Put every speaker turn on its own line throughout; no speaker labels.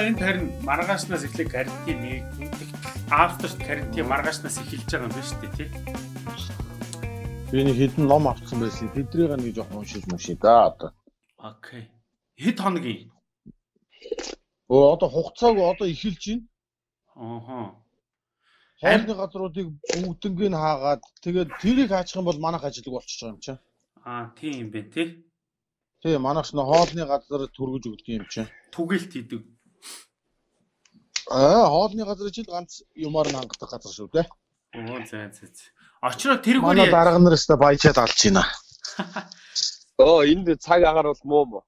энд харин маргаашнаас эхлэх карантин after карантин маргаашнаас эхэлж байгаа юм байна шүү дээ тий.
Би нэг хэдэн ном авсан байсан. Тэдрийг нэг жоохон уншиж да одоо.
Окей. Хэд хоногийн?
Одоо хугацааг одоо эхэлж байна.
Ааха.
Хоолны газруудыг бүгднийг хаагаад тэгээд тэрийг хаачих юм бол манайх ажиллаг болчихж байгаа юм чинь.
Тийм юм байна тий.
Тий, манайх нь хоолны газар түргэж өгдөг юм чинь.
Түгэлт хийдэг.
Хоолны газар жил ганц юмар нь хангадаг газар шүү дээ.
За. Очроо тэргүүр
манай дарга нараас баяжаад алж байна.
Энд цаг агаар бол муу мó.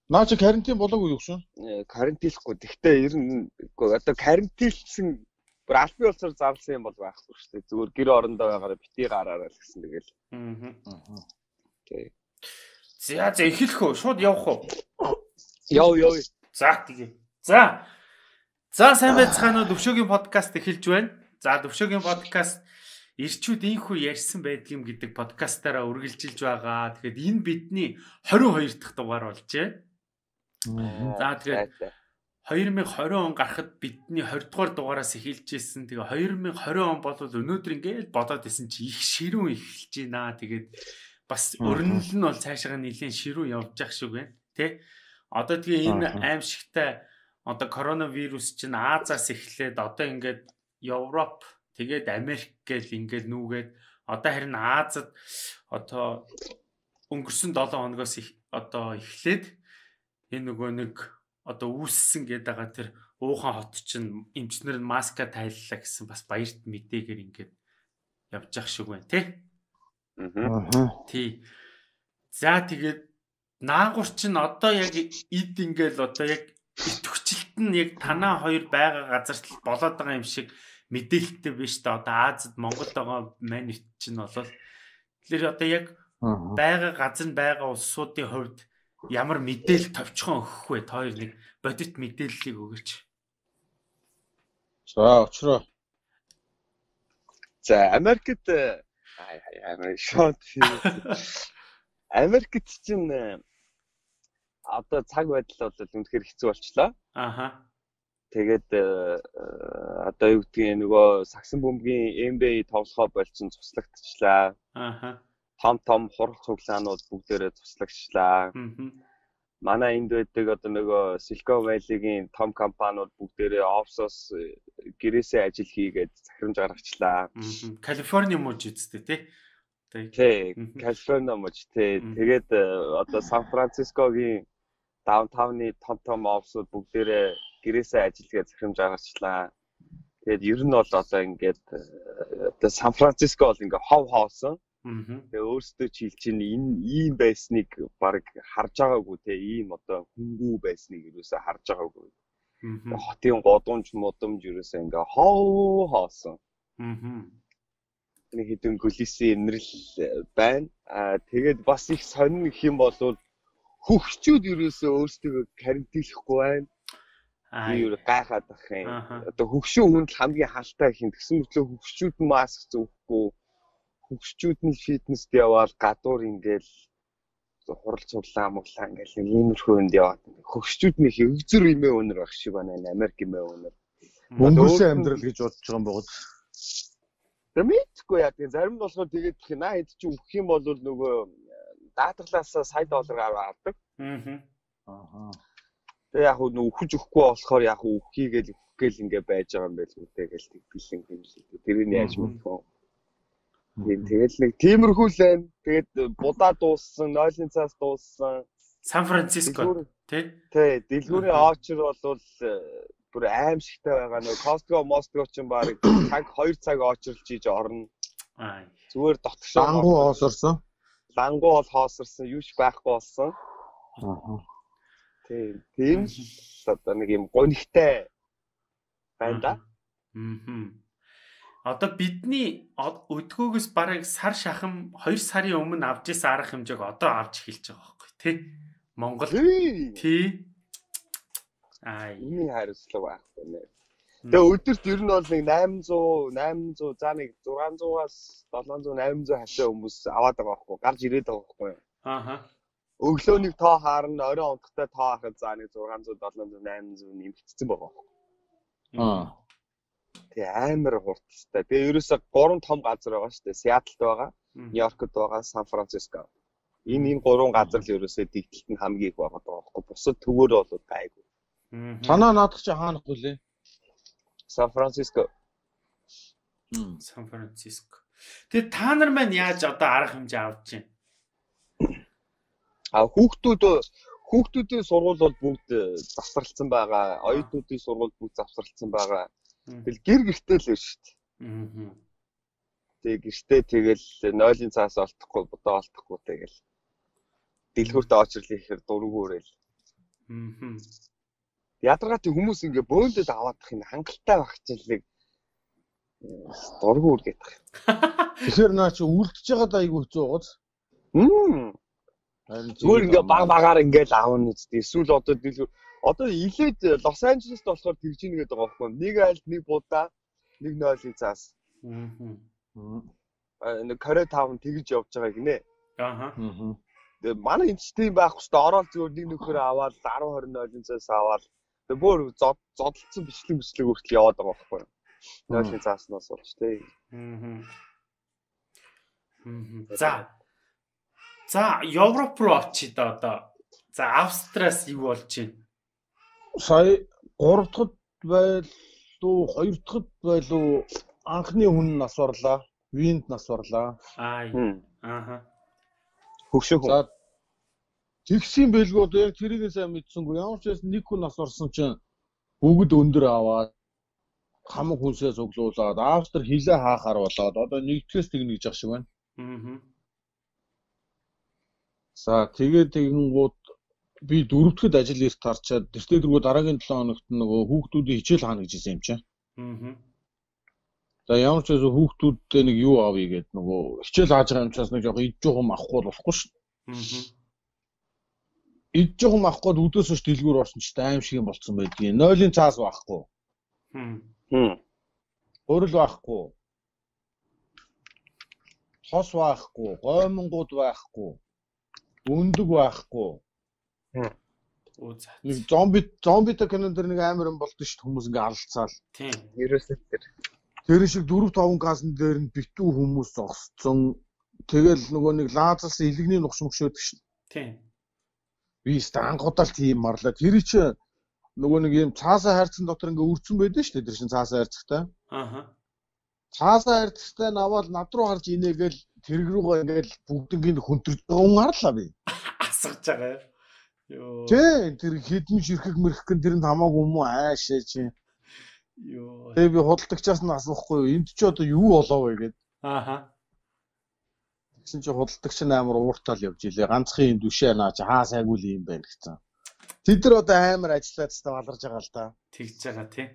Наа чи карантин болоогүй юу гэсэн?
Карантинлахгүй. Гэхдээ ер нь одоо карантинлсан бүр албан ёсоор зарласан юм бол байхгүй шүү дээ. Зүгээр гэр орондоо байгаараа битгий гараараа л гэсэн тэгэл. Окей.
За эхлэх үү? Шууд явах уу?
Яв.
За тэгээ. За сайн байцгаана уу? Төвшөөгийн подкаст эхэлж байна. За Төвшөөгийн подкаст эрчүүд инхүү ярьсан байдгийм гэдэг подкастаараа үргэлжилж байгаа. Тэгэхээр энэ бидний 22 дахь дугаар болжээ. За тэгээд 2020 он гарахад бидний 20 дугаар дугаараас эхэлж ирсэн. Тэгээ 2020 он бол өнөөдөр ингээд бодоод исэн чи их ширүүн эхэлж байна. Тэгээд бас өрнөл нь бол цаашаа нэлийн ширүүн явж явах шиг байна. Тэ? Одоо тэгээ энэ аимшигтай одоо коронавирус чинь Азиас эхлээд одоо ингээд Европ тэгээд Америк гэл ингээд нүүгээд одоо харин Азад одоо өнгөрсөн 7 хоногоос одоо эхлээд энэ нөгөө нэг одоо үүссэн гэдэг байгаа тэр Ухаан хот чинь эмчнэр нь маска тайллаа гэсэн бас баярт мэдээгээр ингээд явж явах шиг байна тий. Тий. За тэгээд наагур чинь одоо яг эд ингээл одоо яг итвчилт нь яг танаа хоёр байгаа газарт болоод байгаа юм шиг мэдээлэлтэй биш та одоо Азад Монголд байгаа манит чинь болол тэгэхээр одоо яг байгаа газар нь байгаа улсуудын хувьд ямар мэдээлэл товчхон өгөх вэ? Та хоёр нэг бодит мэдээллийг өгөөч.
За очроо.
За Америкт Америкт чинь одоо цаг байдал бол үнэхээр хэцүү болчлоо. Тэгээд одоо юу гэдгийг нөгөө сагсан бөмбөгийн NBA тоглохоо болсон цуслагдчихлаа. Том хурал цуглаанууд бүгдээрээ цуслагчлаа. Манай энд байдаг одоо нөгөө Silicon Valley-гийн том компаниуд бүгдээрээ офсоос гэрээсээ ажил хийгээд захирамж гаргачлаа.
Калифорни мууж үсттэй тий.
Тий, Калифорни мууж тий. Тэгээд одоо Сан Францискогийн даунтауны том офсууд бүгдээрээ гэрээсээ ажилгээд захирамж гаргачлаа. Тэгээд ер нь бол одоо ингээд одоо Сан Франциско бол ингээд хов хоосон. Тэгээ өөрсдөө чи хэлж чинь энэ ийм байсныг баг харж байгаагүй те ийм одоо хөнгүү байсныг юусаа харж байгаагүй. Хотын годомж модомж юусаа ингээ хоосон. Нэг хэдэн полисийн эмнэрэл байна. Тэгээд бас их сонин гэх юм бол хөгчүүд юусаа өөрсдөө карантинлахгүй байна. Би юу гайхаад байх юм. Одоо хөгшин хүнд хамгийн хаалтай хин тэгсэн мэтлээ хөгчүүд маск зөөхгүй хөгчүүд нь фитнест яваал гадуур ингээл хурал цуглаа моглаа ингээл иймэрхүү өнд яваад хөгчүүд нь их өгзөр имээ өнөр байх шиг байна Америк имээ өнөр.
Мөнгөсөн амьдрал гэж бодож байгаа юм богод.
Мэдгүй яа тийм зарим нь болохоор тэгээд наа хэд чи өгөх юм бол нөгөө даатгалаасаа сая доллар аваад. Тэгээ яг нөгөө өгч өгөхгүй болохоор яг өгөхийгээл ингээ байж байгаа юм байл үтэй гээл бэлэн хэмжээ. Тэрийг яаж мэдэх вэ? Тэгэл нэг тиймэрхүү л байна. Тэгээд будаа дууссан, нойлын цаас дууссан.
Сан Франциско тий.
Тий, дэлгүүрийн оочр бол бүр аимшигтай байгаа. Нөгөө Costco, Moscow ч юм баг цаг 2 цаг оочрлж хийж орно. Зүгээр дотгошоо
лангуу хоосорсон.
Лангуу бол хоосорсон, юуш байхгүй болсон. Тийм одоо нэг юм гонигтай байна да.
Одоо бидний өдгөөгөөс бараг сар шахам 2 сарын өмнө авч ирсэн арга хэмжээг одоо авч эхэлж байгаа байхгүй тий. Монгол тий.
Ийм хариуцлага байхгүй нэ. Тэгээ өдөрт ер нь бол нэг 800 за нэг 600-аас 700 800 хашаа хүмүүс аваад байгаа байхгүй гарч ирээд байгаа байхгүй. өглөөний тоо харна, оройн унтахтай тоо харахад за нэг 600, 700, 800 нэмэгдсэн байгаа. Тэгээ амар хурдтай. Тэгээ ерөөсө 3 том газар байгаа шүү дээ. Сиэтлд байгаа, Нью-Йоркд байгаа, Сан Франциско. Энэ 3 газар л ерөөсөө дэгдэлт нь хамгийн их байгаа байхгүй. Бусад төвөөр бол гайгүй.
Танаа наадах чи хаанах вүлээ?
Сан Франциско.
Сан Франциско. Тэгээ та нар маань яаж одоо арга хэмжээ авч байна?
Хүүхдүүдийн сургууль бол бүгд завсралцсан байгаа. Оюутнуудын сургууль бүгд завсралцсан байгаа. Тэгэл гэр гэртэй л байна шүү дээ. Тэгээ гэртээ тэгэл 0-ын цаас олдохгүй, бодоо олдохгүй тэгэл. Дэлгүүртээ очрлоо ихээр дургуурэл. Ядаргаатай хүмүүс ингээ бөөндөд аваадах энэ хангалттай байх чилэг дургуур гэдэг.
Тэгэхээр наа чи үлдчихэж байгаа да айгүй хэцүү байгааз.
Зүгээр ингээ багаар ингээл аавна үстэй. Эсвэл одоо илээд Лос Анжелест болохоор тэгж ийн гэдэг байгаа байхгүй. Нэг айлд нэг будаа, нэг 0-ын цаас. Нэг Корей таавн тэгж явж байгаа гинэ. Тэгээ манай энэ ч тийм байх хэвээр ороод зүгээр нэг нөхөр аваад 10 20 0-ын цаас аваад тэгээ бүр зодолцсон бичлэг хүртэл яваад байгаа байхгүй. 0-ын цааснаас болж тий.
За Европ руу очиж одоо. За Австриас юу болж байна?
Сая 3 дахьд байлуу 2 дахьд байлуу анхны хүн нас орлаа. Винд нас орлаа.
Хөвшөө хүн.
За тэгсэн бэлгүй одоо яг тэрийг сайн мэдсэнгүй. Ямар ч байсан нэг хүн нас орсон чинь бүгд өндөр аваад хамаг хүнсээ цуглуулад Австри хилээ хаахаар болоод одоо нэгдгээс тэгнэ гэж ах шиг байна. За тэгээд тэгэнгүүт би 4 дахьд ажил эрт харчаад тэртээ дөрөв дараагийн 7 хоногт нөгөө хүүхдүүдийн хичээл хаана гэж хэлсэн юм чинь. За ямар ч байсан хүүхдүүдтэй нэг юу авъя гэдэг нөгөө хичээл хааж байгаа юм чаас нэг жоохон идж жоохом авахгүй болохгүй шүү дээ. Идж жоохом авахгүй өдөөс хойш дэлгүүр орсон ч аим шиг юм болцсон байдгийг. 0-ын цаас байхгүй. Хөрөл байхгүй. Хос байхгүй, гоймонгууд байхгүй. Өндөг байхгүй. Нэг зомбитой кинон дэр нэг амар юм болдсон шүү дээ хүмүүс ингээ алцаал.
Тийм.
Ерөөсөө
тэр шиг 4-5 газан дээр нь битүү хүмүүс зогсцсон. Тэгэл нөгөө нэг лазерс илэгний нухш мөшөөдөг шүү дээ.
Тийм.
Би стангуудал тийм марлаа. Тэр чи нөгөө нэг юм цаасаа хайрцсан дотор ингээ үрцэн байдэн шүү дээ. Тэр чин цаасаа хайрцагтай. Цаасаа хайрцагтай наваад над руу харж инээгээл тэрэг рүүгээ ингээл бүгднийг хөнтөрж байгаа хүн харлаа би.
Асгаж байгаа юу?
Тий, тэр хідэн ширхэг мэрхгэн тэр нь хамаагүй юм уу аашаа чи.
Йоо.
Тэгээ би худалдагчаас нь асуухгүй юу? Энд ч одоо юу болоо вэ гээд. Тэгсэн чи худалдагч нь амар ууртаал явж илээ. Ганцхан юм дүшээ наа чи хаа сайгүй л юм байна гэсэн. Тэд нар одоо амар ажиллаад та баларж байгаа л да.
Тэгж байгаа тий.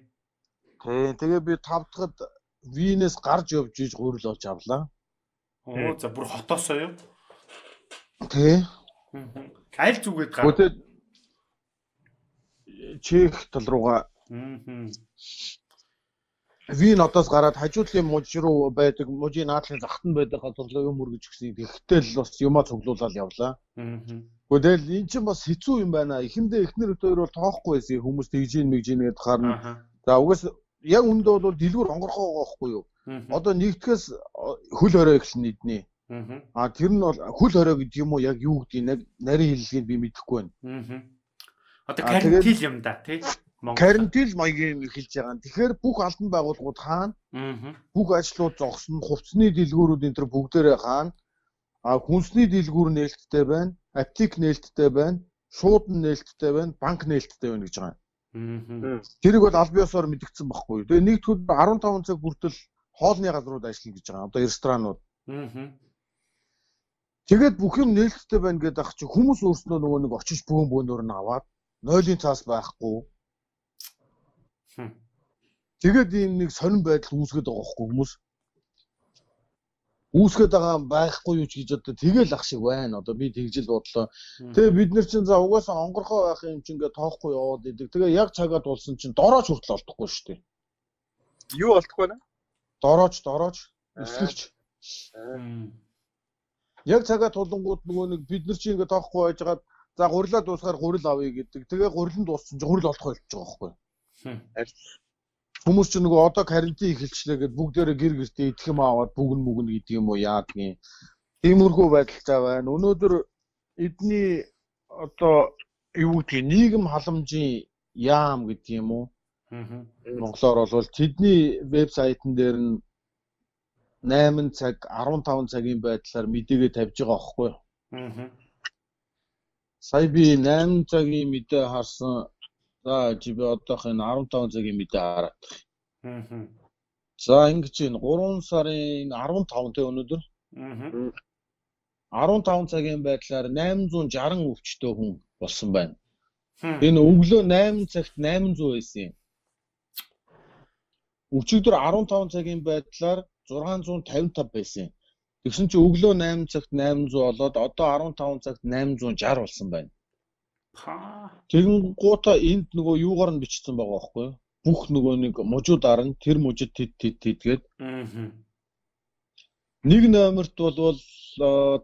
Тэгээ би 5 дахьд Винээс гарч явж иж гурил олж авлаа.
Оо за бүр хотоосоо юу?
Тий.
Аль зүгээд гар.
Хөтөд Чех тал руугаа. Вин одоос гараад хажуудлын мужи руу байдаг, мужийн наадлын захт нь байдаг газарлаа юм үргэж гисэн. Тэгэхдээ л бас юмаа цуглуулаад явлаа. Тэгэл эн чинь бас хэцүү юм байна. Эхэндээ эхнэр өдөр бол тоохгүй байсан. Хүмүүс тэгж ийн гэдээ харна. За угаас яг үндэ бол дэлгүүр онгорхоо байгаа байхгүй юу? Одоо нэгтгэхээс хөл хорой эхэлнэ иднэ. Тэр нь бол хөл хорой гэдэг юм уу яг юу гэдгийг нарийн хэллэгийг би мэдэхгүй байна.
Одоо карантин юм да тий.
Карантин маягийн хэлж байгаа. Тэгэхээр бүх албан байгууллагууд хаана? Бүх ажлууд зогсно, хувцсны дэлгүүрүүд энэ төр бүгдээрээ хаана? Хүнсний дэлгүүр нээлттэй байна, аптек нээлттэй байна, шуудан нээлттэй байна, банк нээлттэй байна гэж байгаа. Тэрийг бол аль биесээр мэдгдсэн байхгүй юу. Тэгээ нэгдүгээр 15 цаг хүртэл хоолны газрууд ажиллана гэж байгаа. Одоо ресторанууд. Тэгээд бүх юм нээлттэй байна гэдэг ах чи хүмүүс өөрснөө нөгөө нэг очиж бөөнөр нь аваад 0-ын цаас байхгүй. Тэгээд ийм нэг сонирн байдал үүсгээд байгаа байхгүй хүмүүс. Үүсгээд байгаа байхгүй юу ч гэж одоо тэгэл ах шиг байна. Одоо би тэгжил бодлоо. Тэгээ бид нар чинь за угаасаа онгорхоо байх юм чинь ингээ тоохгүй яваад идэг. Тэгээ яг цагаад болсон чинь дорооч хүртэл олдохгүй шүү дээ.
Юу олдохгүй нэ?
Дорооч, эсгэгч. Яг цагаа тулангууд нөгөө нэг бид нар чи ингэ тоохгүй байжгаад за гурилаа дуусгаар гурил авъя гэдэг. Тэгээ гурил нь дууссан чи гурил олох болчих жоох байхгүй. Хүмүүс ч нөгөө одоо карантин эхэлчлээ гэд бүгдээрээ гэр гэртээ идэх юм аваад бүгэн мүгэн гэдэг юм уу яадгийн. Тиймэрхүү байдалтай байна. Өнөөдөр эдний одоо юу гэдгийг нийгэм халамжийн яам гэдэг юм уу? Монголоор бол тэдний вебсайтн дээр нь 8 цаг 15 цагийн байдлаар мэдээгээ тавьж байгаа аахгүй юу? Сая би 8 цагийн мэдээ харсан. За чи би одоох энэ 15 цагийн мэдээ хараад. За ингэж энэ 3 сарын 15 тэ өнөөдөр. 15 цагийн байдлаар 860 өвчтөе хүн болсон байна. Энэ өглөө 8 цагт 800 байсан юм. Өчигдөр 15 цагийн байдлаар 655 байсан. Тэгсэн чи өглөө 8 цагт 800 болоод одоо 15 цагт 860 болсон байна. Тэгэн гута энд нөгөө юугаар нь бичсэн байгаа байхгүй юу? Бүх нөгөө нэг мужуудаар нь тэр мужид тэд. Нэг номерт бол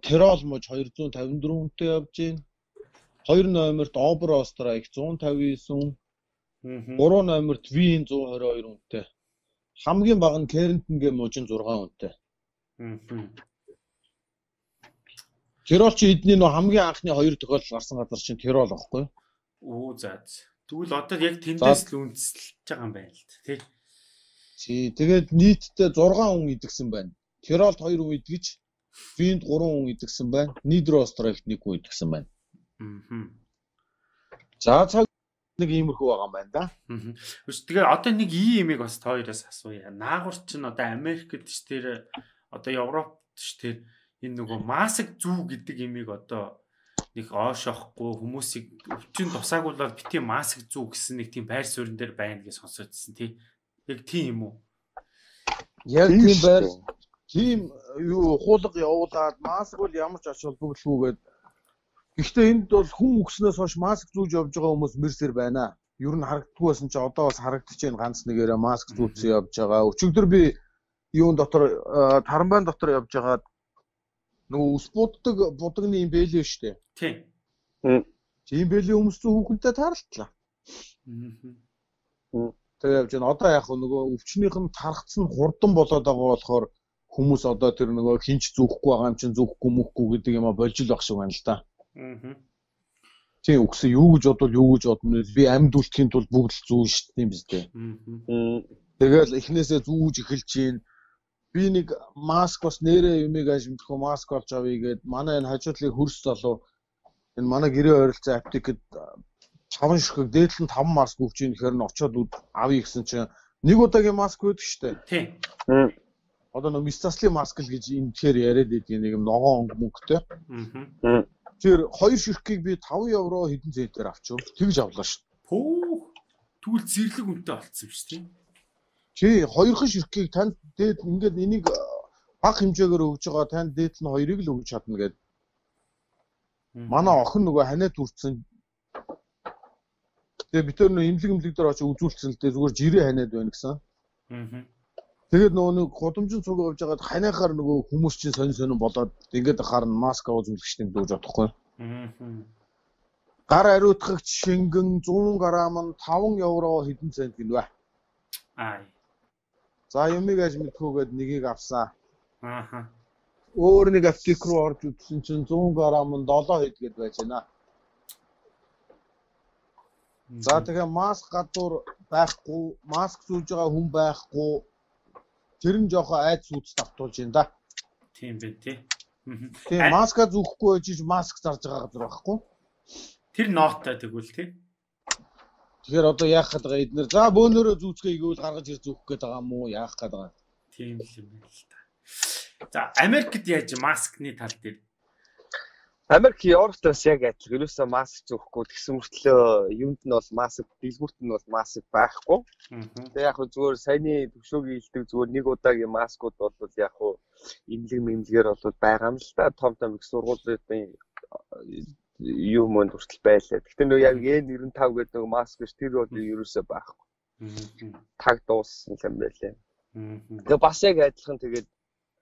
Терол муж 254 хүнтэй явж байна. 2 номерт Оберострайк 159 хүн. 3 номерт Вин 122 хүнтэй. Хамгийн бага нь Кернтенгийн мужин 6 хүнтэй. Терол чи эдний нөө хамгийн анхны 2 тохиолдол гарсан газар чинь Терол байхгүй юу?
За. Тэгвэл одоо яг тэндээс л үндэслэж байгаа юм байна л тий.
Тэгээд нийтдээ 6 хүн идэгсэн байна. Теролд 2 хүн идэгж, Винд 3 хүн идэгсэн байна. Нидеростралд 1 хүн идэгсэн байна. За цаг нэг иймэрхүү байгаа юм байна да.
Тэгээ одоо нэг иймийг бас тооёроос асууя. Наагур чинь одоо Америкт ч тэр одоо Европт ч тэр энэ нөгөө маск зүү гэдэг имийг одоо нэг оошохгүй хүмүүсийг өвчин тусаагуулаад бити маск зүү гэсэн нэг тийм байр суурин дээр байна гэж сонсоодсэн тий. Яг тийм юм уу?
Яг тийм байр тийм юу хуулга явуулаад маск бол ямар ч ач холбогдолгүйгээд гэхдээ энд бол хүн өгснөөс хойш маск зүүж явж байгаа хүмүүс мэрсэр байна. Ер нь харагддаггүй байсан чи одоо бас харагдаж байна ганц нэгээрээ маск зүүцсэн явж байгаа. Өчигдөр би юун дотор Таранбайн дотор явж байгаад нөгөө ус буддаг будагны юм бэлээ штэ.
Тийм.
Тийм бэлээ хүмүүс зүү хүүхэнтэй тааралтлаа. Тэгээ явж байна. Одоо яг нөгөө өвчнийх нь тархацсан хурдан болоод байгаа болохоор хүмүүс одоо тэр нөгөө хинч зүүхгүй байгаа юм чинь зүүхгүй мөхгүй гэдэг юм а болж л баг шиг байна л да. Тийм үгсэн юу гэж бодно би амьд үлдэхийн тулд бүгд л зүүн шүү дээ биз дээ. Тэгэл эхнээсээ зүүж эхэлж чинь би нэг маск бас нэрээ юмыг ажимдах маск олж авъя гээд манай энэ хажуудлын хөрс залуу энэ манай гэрээ ойролцоо аптекэд 5 ширхэг дээдл нь 5 маск өгч ийн гэхээр нь очиод авъя гэсэн чинь нэг удаагийн маск байдаг шүү дээ.
Тийм.
Одоо нэг мистаслын маск л гэж энэ тэгэхээр яриад байдаг нэг юм ногоон мөнгөтэй. Тэр 2 ширхгийг би 5 евро хэдэн центээр авчихв. Тэгж авлаа шүү.
Тэгвэл зэрлэг үнэтэй болцсон шүү дээ.
Чи 2 ширхгийг танд дээд ингээд энийг баг хэмжээгээр өгж байгаа танд дээд нь 2-ыг л өгж чадна гэд. Манай охин нөгөө ханаа түрцсэн. Тэгээ бид тэр нөө имлэг дээр очиж үзүүлсэн л дээ зүгээр жирээ ханаад байна гэсэн. Тэгээд нөгөө нэг гудамжин цуг авж байгаад ханиахаар нөгөө хүмүүс чинь сонин болоод ингээд харна маск үзүүлэгчтэй дүүж бодохгүй. Гар ариутгагч шингэн 100 грамм нь 5 евро хэдэн цент гинвэ. За юмыг аж мэдхүүгээд нэгийг авсан. Өөр нэг аптек руу орж үзсэн чинь 100 грамм нь 7 хэд гээд байж байна. За тэгээ маск гадуур байхгүй, маск зүүж байгаа хүн байхгүй. Тэр нь жоохон айц үст автуулж байна да.
Тийм бэ тий.
Тэгээ маска зүүхгүй байж маск зарж байгаа газар байхгүй.
Тэр нооттой тэгвэл тий.
Тэгэхээр одоо яах гээд байгаа эднэр за бөөнөрөө зүүцгээ игүүл гаргаж ир зүүх гээд байгаа юм уу яах гээд байгаа.
Тийм л юм байна л та. За Америкт яаж маскны тал дээр
Америк Европоос яг адил ерөөсөө маск зөөхгүй тэгсэн мөртлөө юунд нь бол маск дэлгүүрт нь бол маск байхгүй. Тэгээ яг зүгээр саяны төвшөөгийн илдэг зүгээр нэг удаагийн маскууд бол яг имлэг бол байгаа юм л да. Том их сургуулийн юу мөнд хүртэл байлаа. Гэхдээ нөө яг N95 гэдэг нэг маск биш тэр бол ерөөсөө байхгүй. Таг дууссан юм байлаа. Тэгээ бас яг адилхан тэгээд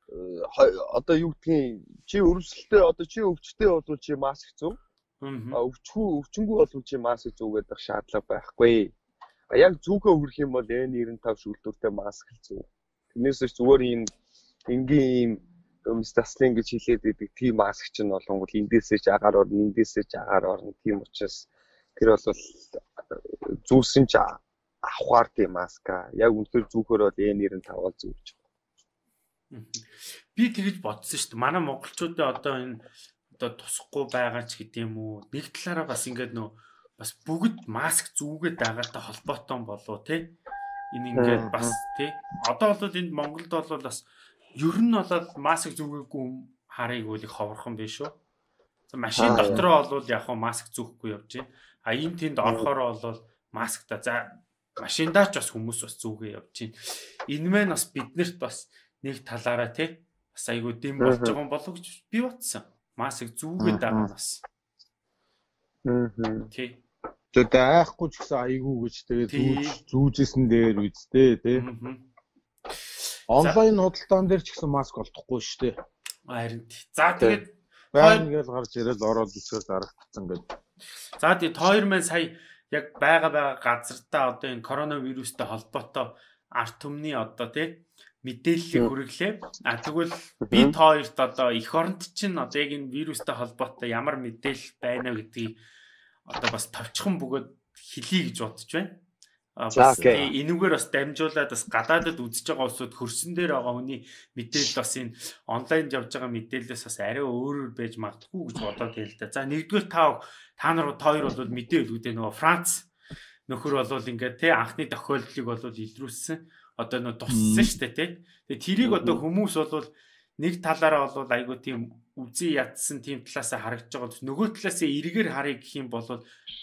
одоо юу гэдгийг чи өрөвсөлтөө одоо чи өвчтэй бол чи маск зүү. Өвчнгүү бол чи маск зүүгээд байх шаардлага байхгүй. Яг зүүхөө хүрэх юм бол N95 шүүлтүүртэй маск л зүү. Тэрнээс зүгээр ийм энгийн таслын гэж хэлээд идэг тийм маск чинь болонгол эндээсээ ч агаар орно, эндээсээ ч агаар орно. Тийм учраас тэр бол зүүсэн ч авахар тийм маска. Яг үнэхээр зүүхөр бол N95 бол зүүж байгаа.
Би тэгж бодсон шүү дээ. Манай монголчуудаа одоо энэ одоо тусахгүй байгаа ч гэдэм юм уу. Нэг талаараа бас ингээд нөө бас бүгд маск зүүгээд байгаатай холбоотой болов те. Энэ ингээд бас те. Одоо бол энд Монголд бол бас ер нь болоод маск зүүгээгүй харыг үл их ховорхон биш үү. Машин дотроо бол яг хаа маск зүүхгүй явж байна. А ийм тэнд орохороо бол маскта за машиндаа ч бас хүмүүс бас зүүгээ явж байна. Энэ мэн бас биднэрт бас нэг талаараа те бас айгуу дэм болж байгаа юм болов гэж би бодсон. Маск зүүгээд байгаа нас. Тий.
Тэгээд айхгүй ч гэсэн айгүй гэж тэгээд зүүжсэн дээр үздэй тий. Онлайн худалдаан дээр ч гэсэн маск олдохгүй шүү дээ.
Харин тий. За тэгээд
байна гэж гарч ирэл ороод үсгээр зарагдсан гэдэг.
За тэгээд хоёр маань сая яг байгаа газартаа одоо энэ коронавирустай холбоотой арт түмний одоо тий мэдээллийг хүргэлээ. Тэгвэл би хоёрт одоо эх оронд чинь одоо яг энэ вирустай холбоотой ямар мэдээлэл байна гэдгийг одоо бас товчхон бөгөөд хэлье гэж бодож байна. Бас энүүгээр бас дамжуулаад бас гадаадд үзэж байгаа улсууд хөрсөн дээр байгаа хүний мэдээлэл бас энэ онлайнд явж байгаа мэдээлэлээс бас арай өөрөөр байж магадгүй гэж бодоод байл та. За нэгдүгээр та нар хоёр бол мэдээ өгдөө нөгөө Франц нөхөр бол ингээд тий анхны тохиолдлыг бол илрүүлсэн. Одоо нөө туссан шүү дээ тий. Тэгээ тэрийг одоо хүмүүс бол нэг талаараа бол айгуу тийм үзий ядсан тийм талаасаа харагдаж байгаа. Нөгөө талаасаа эргээр харъя гэх юм бол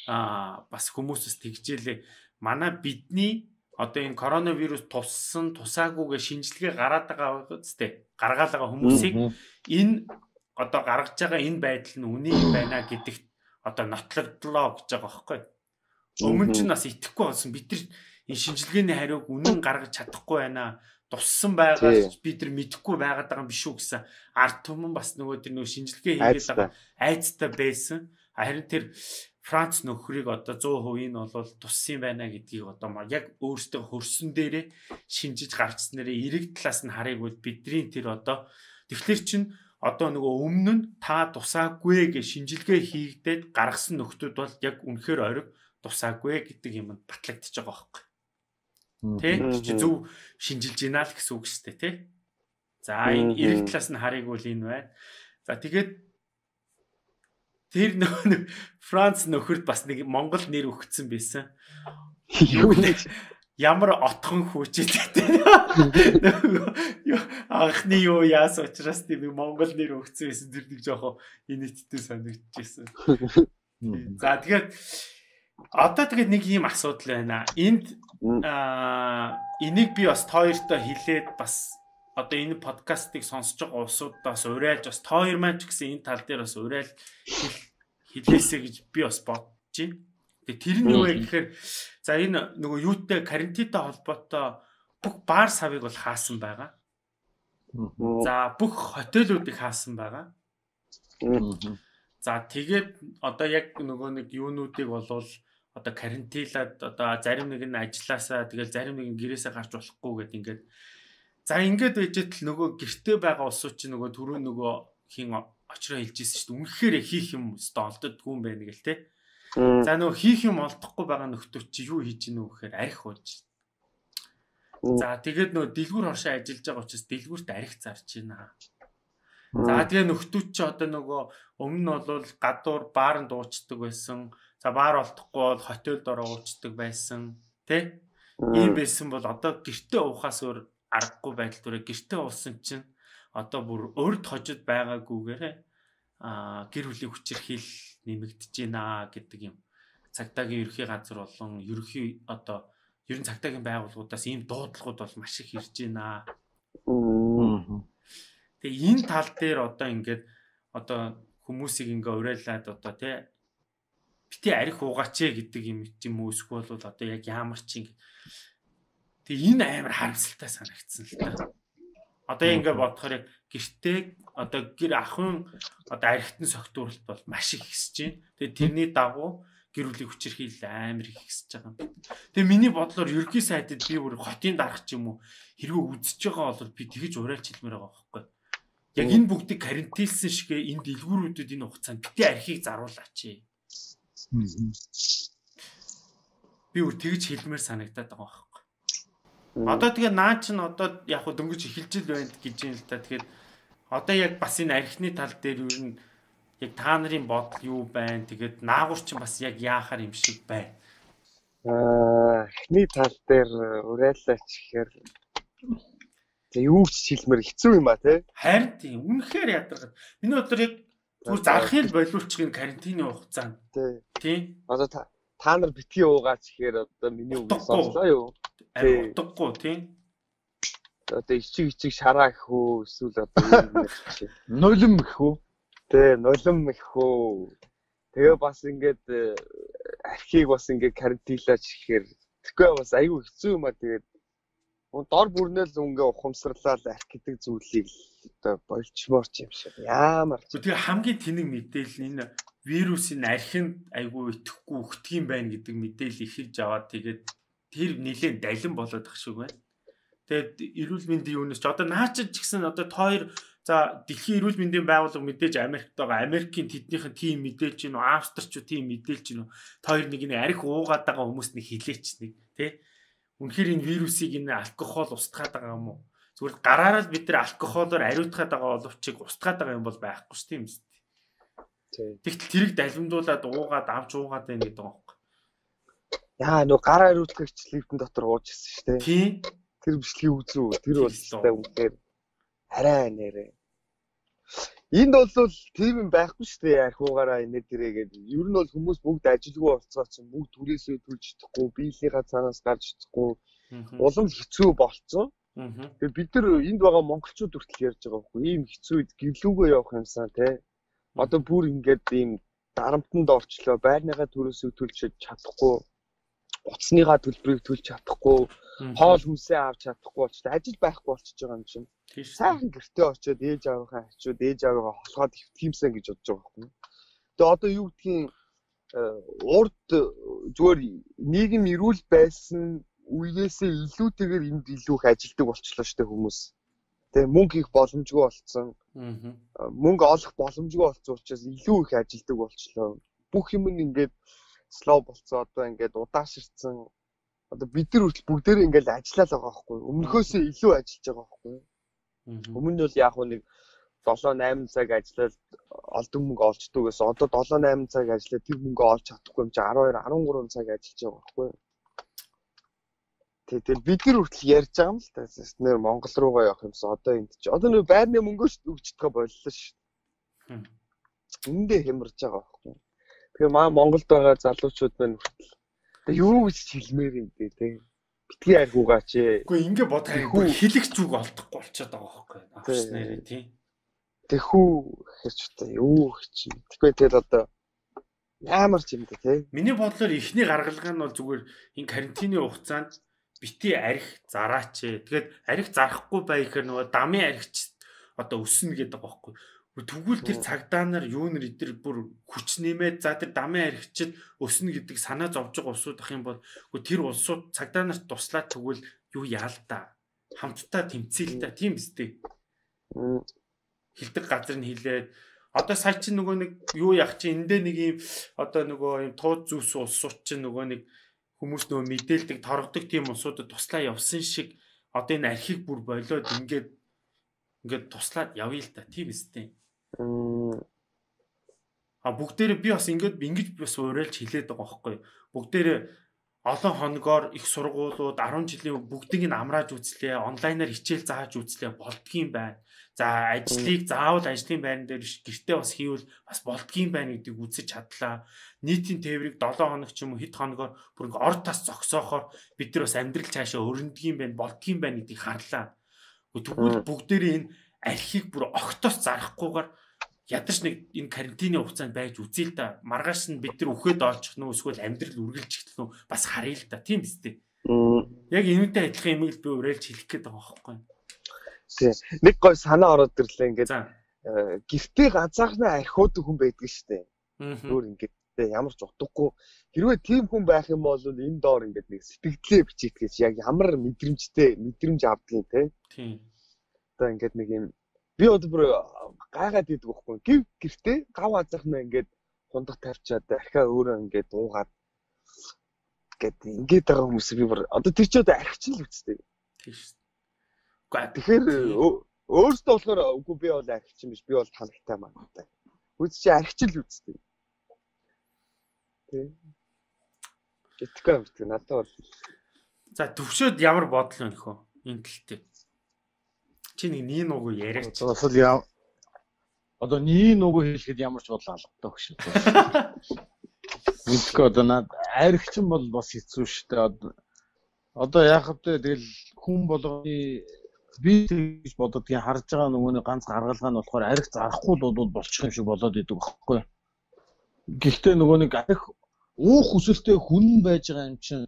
бас хүмүүсээс тэгжээлээ. Манай бидний одоо энэ коронавирус туссан тусаагүйгээ шинжилгээ гараад байгаа үстэй. Гаргаал байгаа хүмүүсийг энэ одоо гаргаж байгаа энэ байдал нь үний байна гэдэгт одоо нотлогдлоо гэж байгаа байхгүй. Өмнө нь бас итгэхгүй болсон. Бид нар энэ шинжилгээний хариуг үнэн гаргаж чадахгүй байна. Туссан байгаа бид нар мэдэхгүй байгаад байгаа юм биш үү гэсэн ард түмэн бас нөгөө тэр нөгөө шинжилгээ хийгээд байгаа айцтай байсан. Харин тэр Франц нөхрийг одоо 100% нь бол туссан байна гэдгийг одоо яг өөртөө хөрсөн дээрээ шинжиж гаргацсан нэрээ эрэг талаас нь харыг бол бидний тэр одоо тэгэхээр чин одоо нөгөө өмнө нь та тусаагүй гэж шинжилгээ хийгдээд гаргасан нөхдүүд бол яг үнэхээр ориг тусаагүй гэдэг юм батлагдчихж байгаа байхгүй. Тэ чи зөв шинжилж гинэ л гэсэн үг шүү дээ тий. За энэ эрэг талаас нь харыг бол энэ байна. За тэгээд тэр нөгөө Франц нөхөрд бас нэг Монгол нэр өгсөн байсан. Ямар отхон хүчтэй. Анхны юу яас учраас тийм Монгол нэр өгсөн байсан тэр нэг жоохон инээдтэй санагдчихсэн. За тэгээд одоо тэгээд нэг ийм асуудал байна. Энд энийг би бас хоёртой хэлээд бас одоо энэ подкастыг сонсож байгаа улсуудаас урайлж бас хоёр маань ч гэсэн энэ тал дээр бас урайлж хэлээсэй гэж би бас бодож байна. Тэгээ тэр нь юу вэ гэхээр за энэ нөгөө юутай карантинтай холбоотой бүх баар савыг бол хаасан байгаа. За бүх хотелуудыг хаасан байгаа. За тэгээд одоо яг нөгөө нэг юунуудыг болвол одоо карантинлаад одоо зарим нэг нь ажилласаа тэгэл зарим нэг нь гэрээсээ гарч болохгүй гэдэг ингээд за ингээд байжэтэл нөгөө гэртээ байгаа улсууд чинь нөгөө түрүү нөгөө хин очроо хэлжсэн шүү дээ. Үнэхээр хийх юм өстө олддгүй юм байна гэл те. За нөгөө хийх юм олдохгүй байгаа нөхдөө чи юу хийж гинэ вэ гэхээр арх ууж. За тэгээд нөгөө дэлгүүр хошоо ажиллаж байгаа учраас дэлгүүрт арх зарж байна. За тэгээ нөхдүүд чи одоо нөгөө өмнө нь бол гадуур баарнд уучдаг байсан. За баар олдохгүй бол хотелд ороо уучдаг байсан. Тэ? Ийм байсан бол одоо гэртээ уухаас өөр аргагүй байдал түрээ гэртээ уусан чинь одоо бүр өрд хожид байгаагүйгээр гэр бүлийн хүчирхийл нэмэгдэж байна гэдэг юм. Цагдаагийн ерөнхий газар болон ерөнхий одоо ерөн цагдаагийн байгууллагуудаас ийм дуудлагууд бол маш их ирж байна. Тэгээ энэ тал дээр одоо ингээд одоо хүмүүсийг ингээ урайлаад одоо тий бити арх уугаач гэдэг юм уу эсвэл бол одоо яг ямар ч ингэ. Тэгээ энэ амар харамсалтай санагдсан л та. Одоо ингээд бодохоор яг гэртээ одоо гэр ахын одоо архитын согтууралт бол маш их ихсэж байна. Тэгээд тэрний дагуу гэр бүлийн хүчирхийлэл амар их ихсэж байгаа юм. Тэгээд миний бодлоор ерөнхий сайдад би бүр хотын дарах ч юм уу хэрвээ үзэж байгаа бол би тэгж урайлж хэлмээр байгаа байхгүй. Яг энэ бүгдийг карантинлсан шигээ энэ дэлгүүрүүдэд энэ хугацаанд битээ архийг заруулаач. Би бүр тэгж хэлмээр санагдаад байгаа байхгүй. Одоо тэгээ наа чин одоо яг хөө дөнгөж эхэлж л байна гэж юм л та. Тэгэхээр одоо яг бас энэ архины тал дээр юу н яг та нарын бодол юу байна? Тэгээд наагур чин бас яг яахаар юм шиг байна.
Архины тал дээр урайлаач гэхээр юу ч хэлмээр хэцүү юм а тий.
Харин тийм үнэхээр ядаргаад. Миний бодлоор яг зүгээр зарахын л болиулчих энэ карантины хугацаанд. Тий.
Одоо та нар битгий уугаач гэхээр одоо миний үг сонслоо юу?
Амар утгагүй тий.
Одоо ичиг шараа гэх үү эсвэл одоо юу гэх юм
нулим гэх үү?
Тэ нулим гэх үү. Тэгээ бас ингээд архийг бас ингээд карантинлаач гэхээр тэгэхгүй бас айгүй хэцүү юм а тэгээд дор бүрнэл үнгээ ухамсарлал арх гэдэг зүйлийг одоо болчмоорч юм шиг яамар.
Тэгээ хамгийн тэнэг мэдээлэл энэ вирусын архинд айгүй итгэхгүй өгдөг юм байна гэдэг мэдээлэл ихэлж аваад тэгээд тэр нэлээд далин болоод ах шиг байна. Тэгээд эрүүл мэндийн юунаас ч одоо наачид ч гэсэн одоо тоор за дэлхийн эрүүл мэндийн байгууллага мэдээж Америкт байгаа. Америкийн тэднийхэн тим мэдээлж гинөө, Австрич тим мэдээлж гинөө. Тоор нэг нэг арх уугаад байгаа хүмүүс нэг хилээч нэг тий. Үнэхээр энэ вирусыг энэ алкогол устгаад байгаа юм уу? Зүгээр гараараа л бид нар алкоголоор ариутгаад байгаа боловч устгаад байгаа юм бол байхгүй ш тийм үст. Тэгтэл тэрийг далимдуулаад уугаад авч уугаад байна гэдэг юм.
Яа нөгөө гараа ариутгах бичлэгтэн дотор ууж ирсэн шүү дээ.
Тийм.
Тэр бичлэгийг үзүү. Тэр бол өстэй үнээр арай нэрээ. Энд бол тийм юм байхгүй шүү дээ. Архуугаараа инээ дээрээгээд ер нь бол хүмүүс бүгд ажилгүй болцоо чинь бүгд түрээсээ төлж чадахгүй, биелийнхаа цаанаас гарч чадахгүй. Улам хэцүү болцсон. Тэгээ бид нар энд байгаа монголчууд хүртэл ярьж байгаа байхгүй. Ийм хэцүү үед гэрлүүгөө явах юмсан тий. Одоо бүр ингээд ийм дарамтанд орчлоо. Байрныхаа түрээсээ төлж чадахгүй. Уцсныхаа төлбөрийг төлж чадахгүй, хоол хүнсээ авч чадахгүй болчихсон. Ажил байхгүй болчихж байгаа юм чинь. Сайхан гэртээ очиод ээж аавынхаа хачууд ээж аавыгаа холгоод хөвтгиймсэн гэж бодож байгаа юм. Тэгээ одоо юу гэдгийг урд зүгээр нийгэм эрүүл байсан үеэсээ илүүтэйгээр энд илүү их ажилдаг болчихлоо шүү дээ хүмүүс. Тэгээ мөнгө их боломжгүй болцсон. Мөнгө олох боломжгүй болцсон учраас илүү их ажилдаг болчихлоо. Бүх юм ингээд слоу болцоо одоо ингээд удааширсан. Одоо бид нар хүртэл бүгдээрээ ингээд ажиллаад байгаа байхгүй. Өмнөхөөсөө илүү ажиллаж байгаа байхгүй. Өмнө нь бол яг нэг 7-8 цаг ажиллаад олдон мөнгө олчдөг гэсэн. Одоо 7-8 цаг ажиллаад тэр мөнгөө олж чадахгүй юм чи 12-13 цаг ажиллаж байгаа байхгүй. Тэгэл бид нар хүртэл ярьж байгаа юм л та. Нэр Монгол руугаа явах юмсан. Одоо энд чи одоо нөө байрны мөнгөө өгчдөг боллоо шүү. Эндээ хямарж байгаа байхгүй. Тэгээ Монголд байгаа залуучууд байна хүртэл. Тэгээ юу гэж хэлмээр юм бэ те. Битгий архуугаач ээ.
Үгүй ингэ бодох хэлэх зүг олдохгүй болчиход байгаа байхгүй. Авч нэрээ тийм.
Тэхүү гэхэрч та юу гэж юм. Тэгэхгүй тэгэл одоо ямар ч юм те.
Миний бодлоор эхний гаргалгаа нь бол зүгээр энэ карантины хугацаанд бити арх зараач ээ. Тэгээд арх зарахгүй бай гэхээр нөгөө дамын архич одоо өснө гэдэг байгаа байхгүй. Тэгвэл тэр цагдаа нар юу нэр эдэр бүр хүч нэмээд за тэр дамын архичд өснө гэдэг санаа зовж байгаа улсууд ах юм бол тэр улсууд цагдаа нарт туслаад тэгвэл юу яал та хамтдаа тэмцээл та тийм биз дээ. Хилдэг газар нь хилээд одоо сая чи нөгөө нэг юу яах чи эндээ нэг юм одоо нөгөө юм тууд зүс улсууд чи нөгөө нэг хүмүүс нөгөө мэдээлдэг торгодог тийм улсуудад туслаа явсан шиг одоо энэ архийг бүр болоод ингээд туслаад явъя л та тийм биз дээ. Бүгдээрээ би бас ингэж бас уриалж хэлээд байгаа байхгүй. Бүгдээрээ олон хоногоор их сургуулиуд 10 жилийн бүгдийг нь амрааж үзлээ, онлайнаар хичээл зааж үзлээ болдгийм байна. За ажлыг заавал ажлын байран дээр гэртээ бас хийвэл бас болдгийм байна гэдгийг үзэж чадлаа. Нийтийн тээврийг 7 хоног ч юм уу хэд хоногоор бүр ингээ ор тас зогсоохоор бид нар бас амьдрал цаашаа өрнөдгийм байна, болдгийм байна гэдгийг харлаа. Тэгвэл бүгдээрээ энэ архийг бүр огтоос зарахгүйгээр ядарч нэг энэ карантины хугацаанд байж үзье л да. Маргааш нь бид нар үхээд олчих нөө эсвэл амьдрал үргэлжлэх нөө бас харъя л да. Тийм биз дээ. Яг энэтэй адилхан юм л би уриалж хэлэх гээд байгаа байхгүй.
Тий. Нэг гой санаа ороод ирлээ ингээд гэртээ ганцаархнаа архиуд хүн байдаг шүү дээ. Өөр ингээд ямар ч утгагүй хэрвээ тийм хүн байх юм бол энэ доор ингээд нэг сэтгэлдээ бичиж гэж яг ямар мэдрэмж авдгийг тий. Одоо ингээд нэг юм би одоо бүр гайгаад идэг байхгүй. Гэртээ гав ганцаархнаа ингээд хундаг тавьчаад архиа өөрөө ингээд уугаад ингээд байгаа хүмүүс би бүр одоо тэр ч одоо архичин л үстэй. Тийм шүү. Тэгэхээр өөртөө болохоор үгүй би бол архичин биш би бол танагтай мантай. Үз чи архичин л үстэй. Тэг. Гэтгэв амт надад бол. За
төвшөөд ямар бодол вэ нөхөө энэ тэлтэй. Чи нэг нийн уг яриач.
Одоо нийн уг хэлэхэд ямар ч бодол алгатай хөш. Мэдгүй одоо над архичин бол бас хэцүү шүү дээ. Одоо яах вэ тэгэл хүн болгоны би гэж бододгийн харж байгаа нөгөөний ганц гаргалгаа нь болохоор арх зарахгүй л болчих юм шиг болоод идэг байхгүй. Гэхдээ нөгөө нэг арх уух хүсэлтэй хүн байж байгаа юм чинь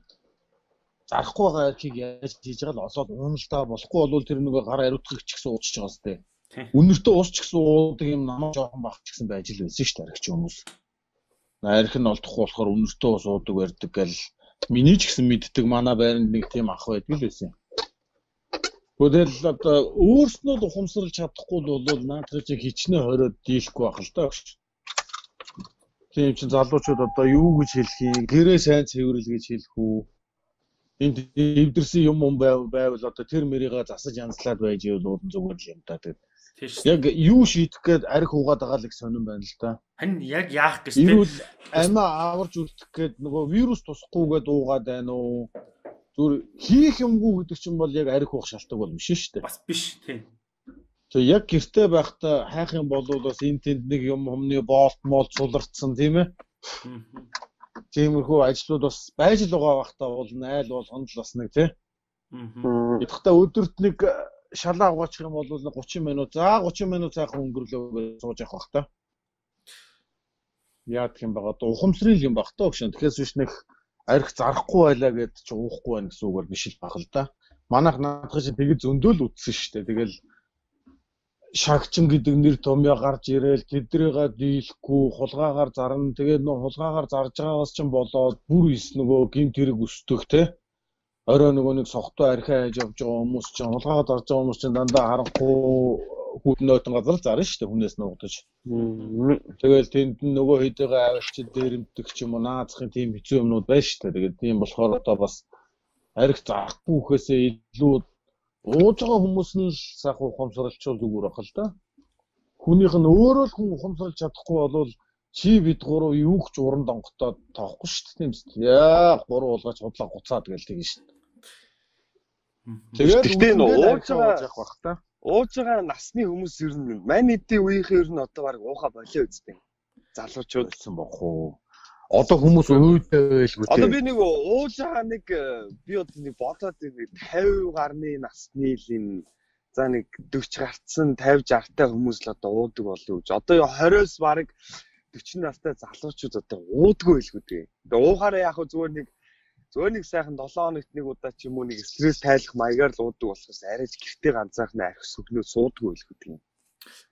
зарахгүй байгаа архийг яаж хийж байгаа л олоод уналдаа болохгүй бол тэр нөгөө гар ариутгах ч гэсэн уудчих байгаа сте. Үнэртээ уусч гэсэн уудаг юм намаа жоохон бах ч гэсэн байж л байсан шүү дээ архич хүмүүс. Арх нь олдохгүй болохоор үнэртээ ус уудаг барьдаг гэл миний ч гэсэн мэддэг манай байранд нэг тийм ах байдаг л байсан. Тэгэл одоо өөрснөө л ухамсарлаж чадахгүй бол наадах чи хичнээн хориод дийлэхгүй байх л даа. Тийм чинь залуучууд одоо юу гэж хэлэх юм? Гэрээ сайн цэвэрлэл гэж хэлэх үү? Энд эвдэрсэн юм байвал одоо тэр мэрийгээ засаж янзлаад байж ивэл зүгээр л юм та. Тэгээд яг юу шийдэх гээд арх угаад байгаа л их сонирн байна л да.
Харин яг яах гэж тийм.
Ирүүл амиа аварч үлдэх гээд нөгөө вирус тусахгүйгээд уугаад байна уу? Зүр хийх юмгүй гэдэг чинь бол яг арх уух шалтгаан бол биш шүү дээ.
Бас биш тийм.
Тэгээ яг гэртээ байхдаа хайх юм бол бас энэ тэнд нэг юм humны болт мол цулардсан тийм ээ. Тиймэрхүү ажлууд бас байж л байгаа байхдаа бол айл болгонд л бас нэг тийм. Идэхтээ өдөрт нэг шалаа угаачих юм бол 30 минут 30 минут сайхан өнгөрлөө сууж явах бах та. Яадаг юм байгаа одоо ухамсрын юм бах та өгшөн. Тэгэхээс биш нэг арх зарахгүй байлаа гэд чи уухгүй байх гэсэн үгээр биш л бах л да. Манайх наадах чинь тэгээд зөндөөл үтсэн шүү дээ. Тэгэл шагчин гэдэг нэр томьёо гарч ирээл тэдрийгээ дийлэхгүй хулгаагаар зарна. Тэгээд нөө хулгаагаар зарж байгаагаас ч болоод бүр ис нөгөө гинт хэрэг өсдөх те. Орой нөгөө нэг согтуу архиа хайж явж байгаа хүмүүс чинь хулгаагаар зарж байгаа хүмүүс чинь дандаа харанхуй хүүтнөтөн газар зарна шүү дээ хүнээс нуугдаж. Тэгэл тэнд нөгөө хэдийгээ аваачид дээрэмтдэг ч юм уу наацхын тийм хэцүү юмнууд байна шүү дээ. Тэгээд тийм болохоор одоо бас арх зарахгүй гэхээсээ илүү ууж байгаа хүмүүс нь л сайхан ухамсарлчул зүгээр бах л да. Хүнийх нь өөрөө л хүн ухамсарлж чадахгүй болвол чи бид гурав юу ч уран донготоод тоохгүй шүү дээ тийм үст. Яа гурав уулгаж худлаа гуцаад гээл тэгнэ шүү дээ.
Тэгээд ууж байгаа насны хүмүүс ер нь мань эдийн үеийнхэн ер нь одоо баг ууха болоо үстэй. Залуучууд
болсон бох уу. Одоо хүмүүс өөдөө байлгүй.
Одоо би нэг ууж байгаа нэг би одоо нэг бодоод нэг 50 гарны насны л энэ за нэг 40 гарцсан 50 60-тай хүмүүс л одоо уудаг болов гэж. Одоо 20-с баг 40 настай залуучууд одоо уудаггүй байлгүй дээ. Тэгээ уухаараа яг зүгээр нэг сайхан 7 хоногт нэг удаа ч юм уу нэг стресс тайлах маягаар л уудаг болохоос арайж гэртээ ганцаархан арх сүгнөө суудаггүй байлгүй дээ.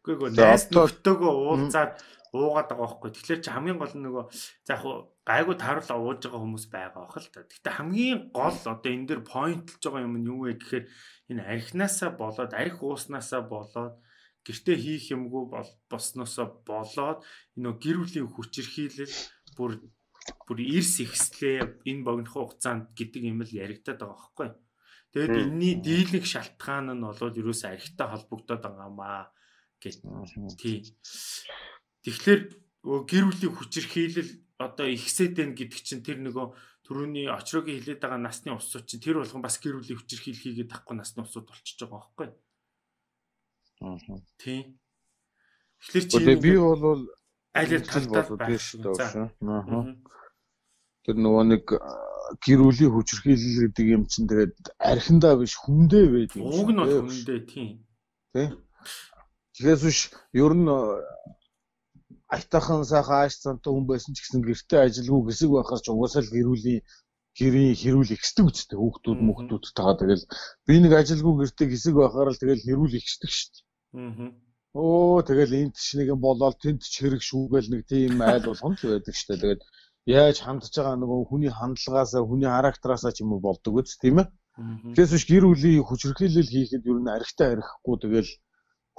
Үгүй найс нөхдөөгөө уулзаад уугаад байгаа байхгүй. Тэгэхээр чи хамгийн гол нь нөгөө за яг гайгүй тааруулаа ууж байгаа хүмүүс байгаа бах л та. Гэхдээ хамгийн гол одоо энэ дээр поинтлж байгаа юм нь юу вэ гэхээр энэ архинаасаа болоод арх ууснасаа болоод гэртээ хийх юмгүй босноосоо болоод энэ гэр бүлийн хүчирхийлэл бүр эрс ихслээ энэ богинохон хугацаанд гэдэг юм л яригадаад байгаа байхгүй. Тэгээд энэний дийлэх шалтгаан нь болоод ерөөсөө архитай холбогдоод байгаа маа гэж тий. Тэгэхээр гэр бүлийн хүчирхийлэл одоо ихсээд байна гэдэг чинь тэр нөгөө түрүүний очрогийн хилээд байгаа насны усууд чинь тэр болгон бас гэр бүлийн хүчирхийлэл хийгээд тахгүй насны усууд болчихж байгаа байхгүй. Тий. Тэгэхээр чи
би бол
аль талдаа байх
шүү дээ. Тэр нөгөө нэг гэр бүлийн хүчирхийлэл гэдэг юм чинь тэгээд архиндаа биш хүндээ байдаг юм.
Уг нь бол хүндээ тий.
Тий. Тэгээс биш ер нь айтайхан сайхан ааш цантай хүн байсан ч гэсэн гэртээ ажилгүй хэсэг байхаар ч угаасаа л гэр бүлийн гэрийн хэрүүл ихсдэг үстэй хүүхдүүд тагаа тэгэл би нэг ажилгүй гэртээ хэсэг байхаар л тэгэл хэрүүл ихсдэг шүү дээ. Тэгэл энд ч нэг юм болоод тэнд ч хэрэг шүүгээл нэг тийм айл болгон л байдаг шүү дээ. Тэгээд яаж хандж байгаа нөгөө хүний хандлагаасаа хүний характераасаа ч юм уу болдог үст тийм ээ. Тэгээс биш гэр бүлийн хүчирхийлэл хийхэд ер нь архитай архихгүй тэгэл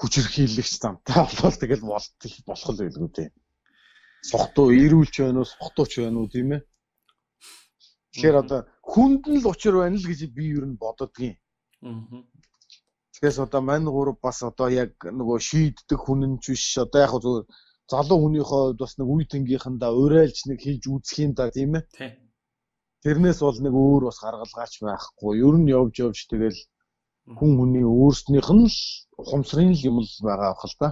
хүчирхийлэгч замтай болол тэгэл болох л байлгүй дээ. Сохтуу ирүүлч байна уу, сохтууч байна уу тийм ээ. Тэгэхээр одоо хүнд нь л учир байна л гэж би ер нь бододгийн. Тэгээс одоо мань гурав бас одоо яг нөгөө шийддэг хүн нь ч биш. Одоо яг зөв залуу хүнийхээ хувьд бас нэг үе тэнгийнхандаа урайлж нэг хийж үзэх юм да тийм ээ. Тэрнээс бол нэг өөр бас гаргалгаач байхгүй. Ер нь явж тэгэл хүн хүний өөрснийх нь л ухамсарын юм л байгаа авах л да.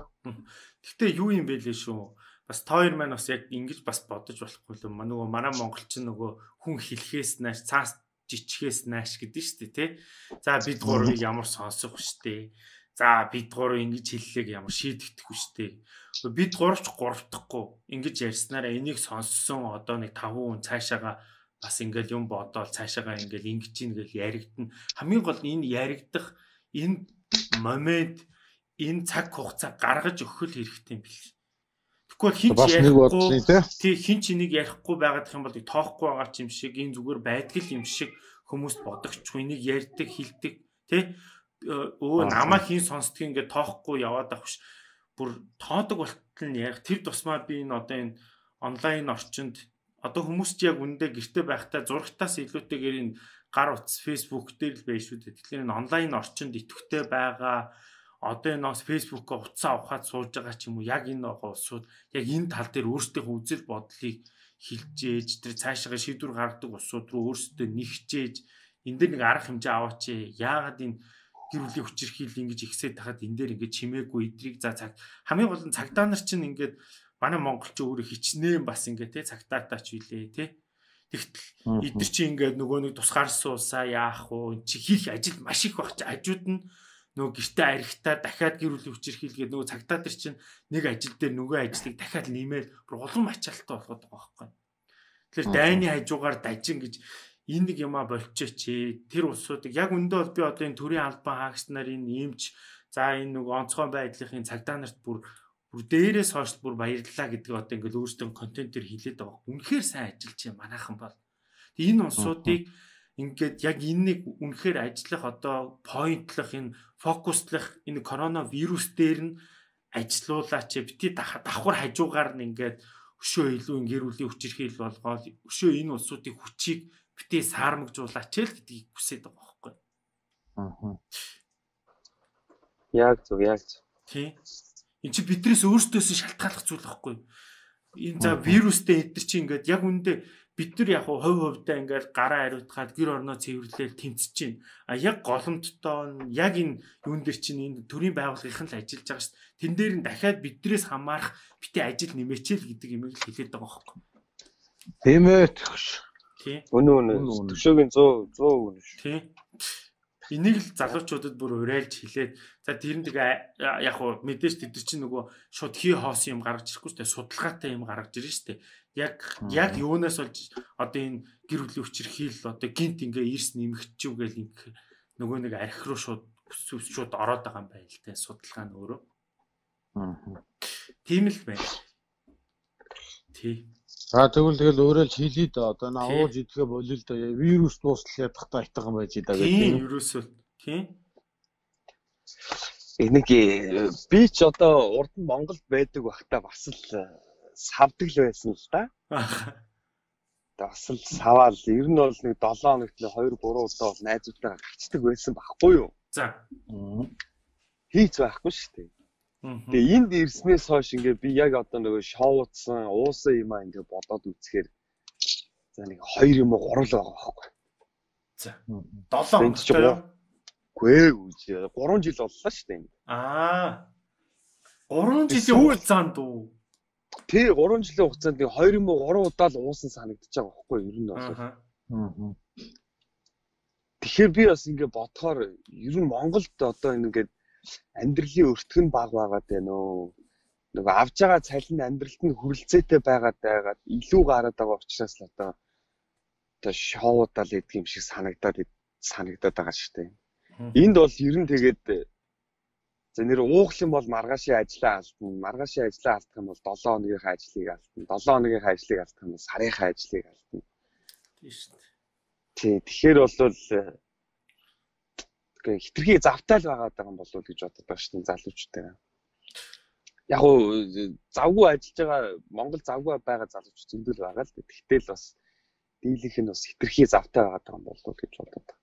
Гэхдээ юу юм бэ лээ шүү. Бас тоор маань бас яг ингэж бас бодож болохгүй л юм. Нөгөө манай монголчин нөгөө хүн хэлхээс нааш цаас жичгээс нааш гэдэг шүү дээ тий. За бид гурвыг ямар сонсох шүү дээ. За бид гурав ингэж хэллээг ямар шийдэгдэхгүй шүү дээ. Бид гуравч гуравдахгүй ингэж ярьснараа энийг сонссон одоо нэг 5 хүн цаашаага бас ингээл юм бодоол цаашаага ингээл ингэж ийн гэл яригдана. Хамгийн гол энэ яригдах энэ момент энэ цаг хугацаа гаргаж өгөх хэрэгтэй юм бэл. Тэгвэл хин ч ярихгүй тий хин ч энийг ярихгүй байгаад юм бол тоохгүй байгаа ч юм шиг энэ зүгээр байдаг юм шиг хүмүүст бодогчгүй энийг ярьдаг хилдэг тий намаа хин сонсдгийг ингээд тоохгүй яваад авах ш. Бүр тоодог болтол нь ярих тэр тусмаа би энэ одоо энэ онлайн орчинд одоо хүмүүс ч яг үндэ гэрте байхдаа зурагтаас илүүтэйгээр энэ гар утас Facebook дээр л байж шүү дээ. Тэгэхээр энэ онлайн орчинд идэвхтэй байгаа одоо энэ бас Facebook-оо утсаа авахад сууж байгаа ч юм уу яг энэ улсууд яг энэ тал дээр өөрсдийнхөө үзэл бодлыг хилж ээж тэр цаашаа шийдвэр гаргадаг улсууд руу өөрсдөө нэгчээж энэ дээр нэг арга хэмжээ аваач яагаад энэ гэр бүлийн хүчирхийлэл ингэж ихсээд тахад энэ дээр ингэж чимээгүй эдрийг за цаг хамгийн гол нь цагдаа нар чинь ингээд манай монголч өөрөө хичнээн бас ингээд те цагдаатаач үлээ те тэгтэл эдгэр чи ингээд нөгөө нэг тусгаарсуулсаа яах вэ чи хийх ажил маш их баг чи хажууд нь нөгөө гэртээ арихтаа дахиад гэр бүлийн хүчирхийлгээд нөгөө цагдаа нар чинь нэг ажил дээр нөгөө ажлыг дахиад нэмээд бүр улам ачаалттай болгоод байгаа байхгүй. Тэгэхээр дайны хажуугаар дажин гэж энэ нэг юмаа болчихооч тэр улсуудыг яг өндөө бол би одоо энэ төрийн албан хаагч нарын нэмж за энэ нөгөө онцгой байдлын цагдаа нарт бүр дээрээс хойш бүр баярлалаа гэдэг одоо ингээл өөрсдөө контентээр хэлээд байгаа. Үнэхээр сайн ажиллаж юм манайхан бол. Тэгээ энэ улсуудыг ингээд яг энэ нэг үнэхээр ажиллах одоо поинтлах энэ фокуслах энэ коронавирус дээр нь ажилуулаач бити давхар хажуугаар нь ингээд өшөө илүү гэр бүлийн хүчирхийлэл болгоод өшөө энэ улсуудын хүчийг бити саармагжуулаач л гэдгийг хүсэж байгаа байхгүй.
Яг зөв.
Тий. Энд чи бидрээс өөрсдөөс шалтгааллах зүйл байхгүй. Энэ за вирустэй эдгэр чи ингээд яг үндэ бид нар яг хувьдаа ингээд гараа хариуцгаад гэр орноо цэвэрлээл тэмцэж чинь. А яг голомттой яг энэ юун дээр чинь энэ төрийн байгууллагын л ажиллаж байгаа шүү дээ. Тэн дээр нь дахиад бидрээс хамаарах бити ажил нэмээчэл гэдэг юм л хэлээд байгаа байхгүй.
Тийм ээ.
Тий.
Үнэн. Төшөөгийн 100 үнэн шүү.
Тий. Энийг л залуучуудад бүр урайлж хэлээд за тэр нэг яг хуу мэдээж тэд чинь нөгөө шууд хий хоос юм гаргаж ирэхгүй шүү дээ судалгаатай юм гаргаж ирнэ шүү дээ яг юунаас болж одоо энэ гэр бүлийн хүчирхийлэл одоо гинт ингээ эрс нэмэгдчихв гэл ингээ нөгөө нэг архи руу шууд ороод байгаа юм байна л дээ судалгаа нь өөрөө тийм л байна тий.
За тэгэл өөрөө л хэлээ да одоо наагууж идэхэ болил да вирус дуусах ядахтаа айтгаан байж да
гэх тийм вирус бол тийм
энийг би ч одоо урд нь Монголд байдаг байхдаа бас л савдаг л байсан л да. Бас л саваал ер нь бол нэг 7 хоногт 2 3 удаа бол найзуудтайгаа гарчдаг байсан байхгүй юу?
За.
Хийц байхгүй шүү дээ. Тэгээ энд ирснээс хойш ингээ би яг одоо нөгөө шоуцсан уусан юм аа ингээ бодоод үзэхээр за нэг 2 юм уу 3 л байгаа байхгүй.
За 7 хоногтой.
Үгүй 3 жил боллоо шүү дээ.
3 жилийн хугацаанд уу?
Тий 3 жилийн хугацаанд 2 юм уу 3 удаа л уусан санагдаж байгаа байхгүй юу? Ер нь бол. Тэгэхээр би бас ингээ бодохоор ер нь Монголд одоо ингээд амьдралын өртгөн баг байгаад байна уу? Нөгөө авж байгаа цалин амьдралд нь хүрэлцээтэй байгаад илүү гараад байгаа учраас л одоо одоо шоудаа л идэх юм шиг санагдаад байгаа шүү дээ. Энд бол ер нь тэгээд за нэр уух юм бол маргаашийн ажлаа алдна. Маргаашийн ажлаа алдах юм бол 7 хоногийнхаа ажлыг алдна. 7 хоногийнхаа ажлыг алдах юм бол сарынхаа ажлыг алдна.
Тийм шүү дээ.
Тий, тэгэхээр бол хитрхи завтай л байгаа юм болов уу гэж боддог байна шүү дээ залуучтай. Яг уу завгүй ажиллаж байгаа Монгол завгүй байгаа залууч зөндөл байгаа л дээ. Тэгтэл бас дийлийнх нь бас хитрхи завтай байгаа юм болов уу гэж боддог.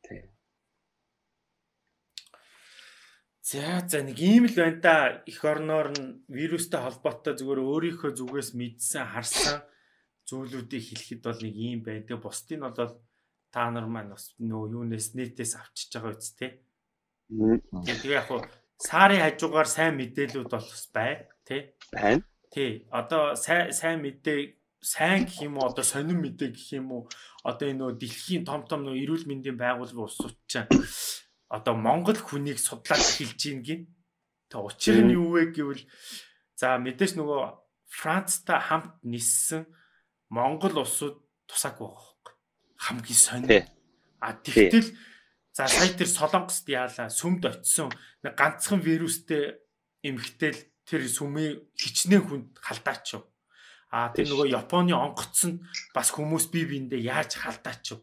Тий.
За нэг ийм л байна та эх орноор нь вирустай холбоотой зүгээр өөрийнхөө зүгээс мэдсэн харсан зүйлүүдийг хэлэхэд бол нэг ийм байна. Тэгээ бусдын бол та нар маань бас нөө юунаас нэтээс авчиж байгаа үст те. Тэгээ яг хуу сарын хажуугаар сайн мэдээлүүд бол бас байна тий.
Байна.
Тий. Одоо сайн мэдээ сайн гэх юм уу одоо сонин мэдээ гэх юм уу одоо энэ нөө дэлхийн том нөө эрүүл мэндийн байгууллагын улсууд чинь одоо Монгол хүнийг судлаад эхэлж ийн гин. Тэг учир нь юу вэ гэвэл за мэдээж нөгөө Францтай хамт ниссэн Монгол улсууд тусаагүй байгаа байхгүй. Хамгийн сонир. Тэгтэл за сая тэр Солонгост яалаа сүмд очисон нэг ганцхан вирустэй эмхтэл тэр сүмийн хичнээн хүнд халдаачв. Тэр нөгөө Японы онгоцсонд бас хүмүүс бие биендээ яаж халдаачв.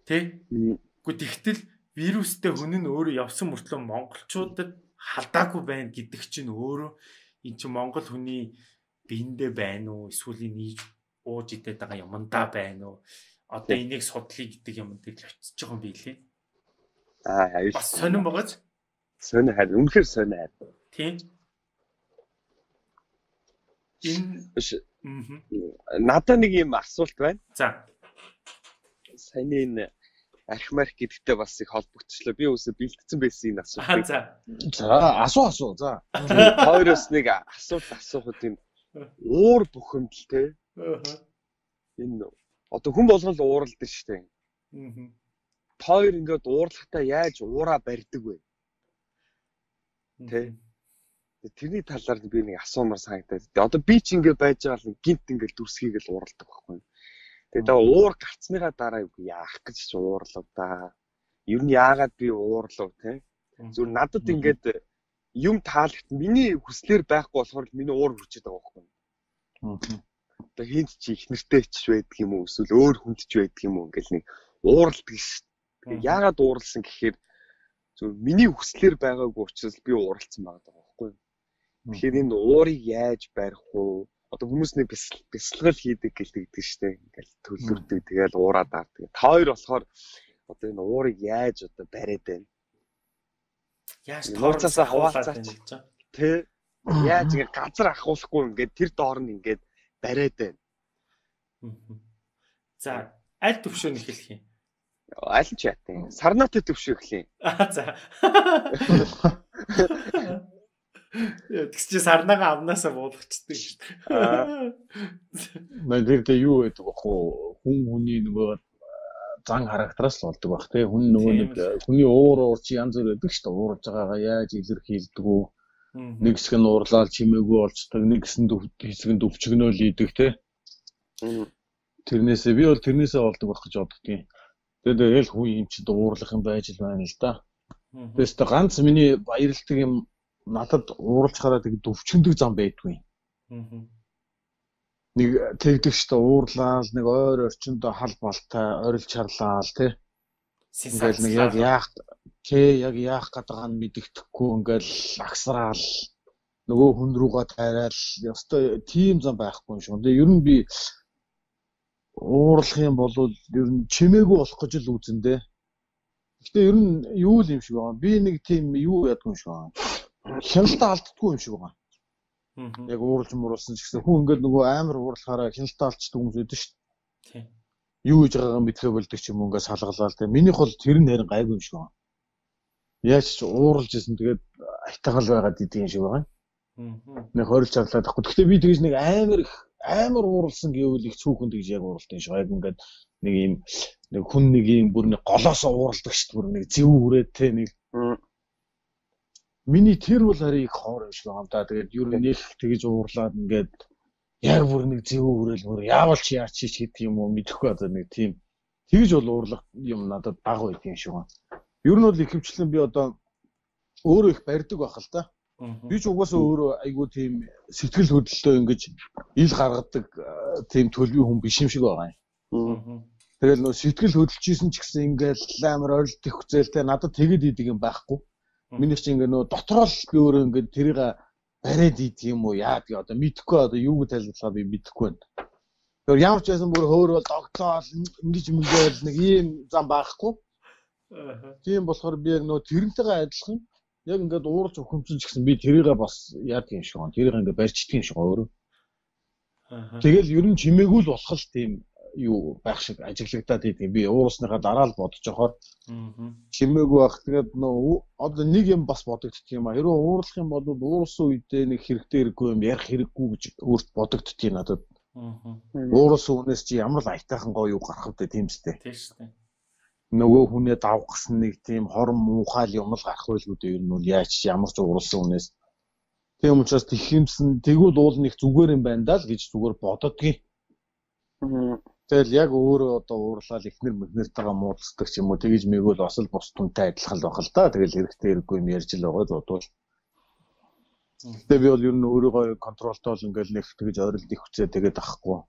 Тэ? Гэхдээ тэгтэл вирустэй хүн нь өөрөө явсан мөртлөө монголчуудад халдаагүй байна гэдэг чинь өөрөө эн чинь монгол хүний биендээ байна уу эсвэл энийг ууж идээд байгаа юмдаа байна уу? Одоо энийг судлыг гэдэг юм дээр л очиж байгаа юм билээ.
Аюул.
Бас сонирн байгааз.
Сонир харин үнэхээр сонир.
Тийм.
Надад нэг юм асуулт байна.
За.
Саяны энэ архимарх гэдэгтэй бас их холбогдчихлоо. Би үсээ бэлтгэсэн байсан энэ асуултыг.
За асуу. За.
Хоёроос нэг асуулт асуухад энэ уур бухимдал те. Энэ одоо хүн болгон л ууралдаг шүү дээ. Хоёр ингээд уурлахтаа яаж уураа барьдаг вэ? Тэ. Тэрний талаар би нэг асуумар санагдаад. Одоо би ч ингээд байж байгаа л гинт ингээд дүрсхийг л ууралдаг байхгүй. Тэгээд уур гарцныхаа дараа яах гэж уурлав да. Ер нь яагаад би уурлав те? Зүр надад ингээд юм таалагт миний хүслээр байхгүй болохоор миний уур хүрчээд байгаа байхгүй. Одоо хинт чи их нэртэй ч байдаг юм уу эсвэл өөр хүнд ч байдаг юм уу ингээл нэг ууралдаг ш. Яагаад ууралсан гэхээр зөв миний хүслээр байгаагүй учраас би ууралсан байгаа байхгүй. Тэгэхээр энэ уурыг яаж барих вэ? Одоо хүмүүс нэг бясалгал хийдэг гэлдэг штэ. Ингээл төлөвлөрдөг тэгэл уураад авдаг. Та хоёр болохоор одоо энэ уурыг яаж одоо бариад байна?
Яаж
тооцоосоо хаваалцаач. Тэ яаж ингэ газар ахуулахгүй ингээд тэр доор нь ингээд бариад байна.
За аль төвшөөнд эхлэх юм?
Аль нь ч ятын. Сарнаатай төвшөө эхлэе.
За. Тэгс чи сарнаага авнаасаа буулгачдаг шүү дээ.
Нэрдээ юу гэдэг вэ? Хүн хүний нөгөө зан характераас л болдог бах тий. Хүн нөгөө нэг хүний уур чи янз бүр байдаг шүү дээ. Уурж байгаагаа яаж илэрхийлдэг үү? Нэг хэсэг нь уурлаад чимээгүй болцдог, нэг хэсэг нь өвчгнөөл ийдэг тий. Тэрнээсээ би бол тэрнээсээ болдог байх гэж боддгийн. Тэгээд хүн юм чи уурлах юм байж л байна л да. Тэгээс ганц миний баярлдаг юм надад ууралж хараад тэг өвчнөдөг зам байдгүй. Нэг тэгдэг штэ уурлаа нэг ойр орчиндөө хал балтай орилж чарлаа тий. Ингээл нэг яг яах гэдэг нь мэддэхгүй ингээл агсраал нөгөө хүн рүүгээ тайраал ёстой тийм зам байхгүй юм шүү. Тэгээ ер нь би уурлах юм бол ер нь чимээгүй болох гэж л үзэндээ. Гэтэ ер нь юу л юм шиг байна. Би нэг тийм юу ядгүй юм шиг байна. Хяналтаа алддаггүй юм шиг байна. Яг уурлж муурлсан ч гэсэн хүн ингээд нөгөө амар уурлахаараа хяналтаа алдчихдаг хүмүүс байдаг шүү дээ. Юу гэж байгаагаа мэдлээ болдог ч юм уу ингээд салгалаа л дээ. Минийх бол тэр нь харин гайгүй юм шиг байна. Яаж ч уурлж исэн тэгээд айтагал байгаад идэг юм шиг байна. Нэг хорилж чарлаад байхгүй. Гэхдээ би тэгж нэг амар ууралсан гэвэл их цүүхэн тэгж яг ууралтай юм шиг. Яг ингээд нэг юм нэг хүн нэг юм бүр нэг голоосоо ууралдаг шүү дээ. Бүр нэг зэв үрээд те нэг. Миний тэр бол харин их хоор юм шиг байна да. Тэгээд юу нэг тэгж уурлаад ингээд яг бүр нэг зөв өрөөл бүр яавал чи яач чи гэдэг юм уу мэдэхгүй одоо нэг тийм тэгж бол уурлах юм надад баг байдаг юм шиг байна. Ер нь бол ихэвчлэн би одоо өөрөө их барьдаг байх л та. Би ч угаасаа өөрөө айгүй тийм сэтгэл хөдлөлтөө ингэж ил гаргадаг тийм төлөвийн хүн биш юм шиг байгаа юм. Тэгэл нөө сэтгэл хөдлөж исэн ч гэсэн ингээл амар ойлт их хүзээлтэй надад тэгэд идэг юм байхгүй. Миний чинь ингээ нөө дотроо л би өөрөө ингээ тэрийг бариад идэг юм уу яа би одоо мэдэхгүй одоо юу гэж тайлбарлахаа би мэдэхгүй байна. Тэгэхээр ямар ч байсан бүр хөөрөөл догцоол ингэж мөнгөөл нэг ийм зам байхгүй. Тийм болохоор би яг нөө тэрнтэйгээ адилхан яг ингээд уурж өхөмсөн ч гэсэн би тэрийгээ бас яадаг юм шиг байна. Тэрийг ингээд барьчдаг юм шиг өөрөө. Тэгэл ер нь чимээгүй л болох л тийм юу байх шиг ажиглагдаад идэв. Би уурсныхаа дараа л бодож байгаа. Чимээгүй байх. Тэгээд нөө одоо нэг юм бас бодогдчих юм а. Хэрвээ уурлах юм бол уурсан үедээ нэг хэрэгтэй хэрэггүй юм ярих хэрэггүй гэж өөрт бодогдчих юм надад. Уурсан үнээс чи ямар л айтайхан гоё юу гарах вэ тийм үстэй. Тийм шүү дээ. Нөгөө хүнээ давхсан нэг тийм хорон муухай юм л гарах байлгүй дээ ер нь бол яаж ямар ч уурсан үнээс. Тийм учраас тэгхимсэн тэгвэл уул нэг зүгээр юм байна даа л гэж зүгээр бододгийн. Тэгэл яг өөрөө одоо уурлал ихнэр мэгнэртэйгээ муудалцдаг ч юм уу тэгж мэгвэл бас л бус түнтэй адилхан л байх л да. Тэгэл хэрэгтэй хэрэггүй юм ярьж л байгаа бодвол. Тэгээ би бол ер нь өөрийгөө контролтой л ингээл нэг тэгж ойролт их хүчээ тэгээд авахгүй.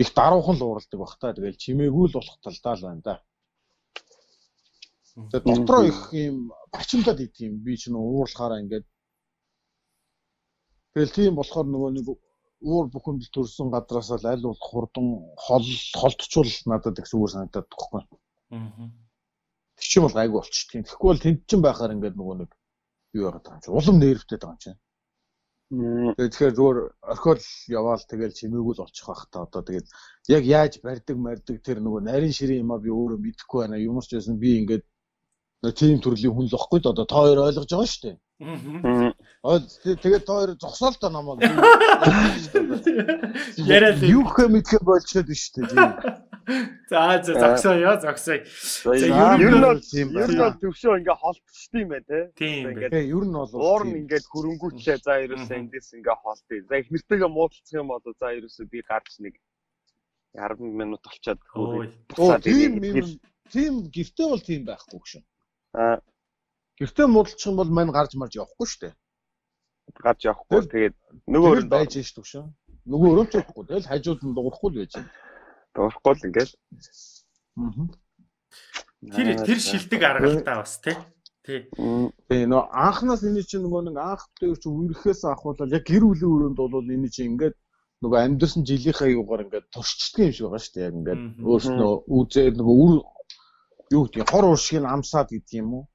Их даруухан л уурладаг бах та. Тэгэл чимээгүй л болох талдаа л байна да. Тэгээд дотроо их юм бачимдаад идэв юм. Би ч нөө уурлахаараа ингээд тэгэл тийм болохоор нөгөө нэг уур бүхэнд төрсэн гадраас л аль болох хурдан холтчул надад их зүгээр санагдаад тоххой. Тэг чи бол гайгүй болчих тийм. Тэгэхгүй бол тэнд чин байхаар ингээд нөгөө нэг юу яагаад байгаа юм чи улам нервтэй байгаа юм чи. Тэгэхээр зүгээр орхиол яваал тэгэл чимээгүй л олчих байх та одоо тэгээд яг яаж барьдаг тэр нөгөө нарийн ширээ юм а би өөрөө мэдэхгүй байна. Юмс ч байсан би ингээд нэг тийм төрлийн хүн л واخгүй d одоо та хоёр ойлгож байгаа шүү дээ. Тэгээд та хоёр зогсоол та намайг. Яриад юу гэх мэдхэ болчиход биш үү тийм.
За зогсоё.
Ер нь бол төвшөө ингээ холтчихдээ юм байна те.
Ингээд ер нь бол
уур нь ингээд хөрөнгүүчлээ за ерөөсөө эндээс ингээ холтъё. За их нэртэйгээ муудалцах юм бол за ерөөсөө би гарч нэг 10 минут болчиход хөрөө.
Тийм гэртээ бол тийм байхгүй гэж. Гэртээ муудалчих юм бол мань гарч марж явахгүй шүү дээ.
Гарч явахгүй. Тэгээд нөгөө өрөөнд
байж шүү шүү. Нөгөө өрөөнд явахгүй. Тэгэл хажууд нь дуурахгүй л байж.
Дуурахгүй л ингээл.
Тэр шилдэг аргалтай бас тий.
Нөө анхнаас энэ чинь нөгөө нэг анх дээр чи үерхээс ахуулаад яг гэр бүлийн өрөөнд бол энэ чинь ингээд нөгөө амьдсан жилийнхаа юугаар ингээд туршчдаг юм шиг байгаа шүү дээ. Яг ингээд өөрснөө үзээд нөгөө юу гэдэг хор уршиг нь амсаад гэдэг юм уу?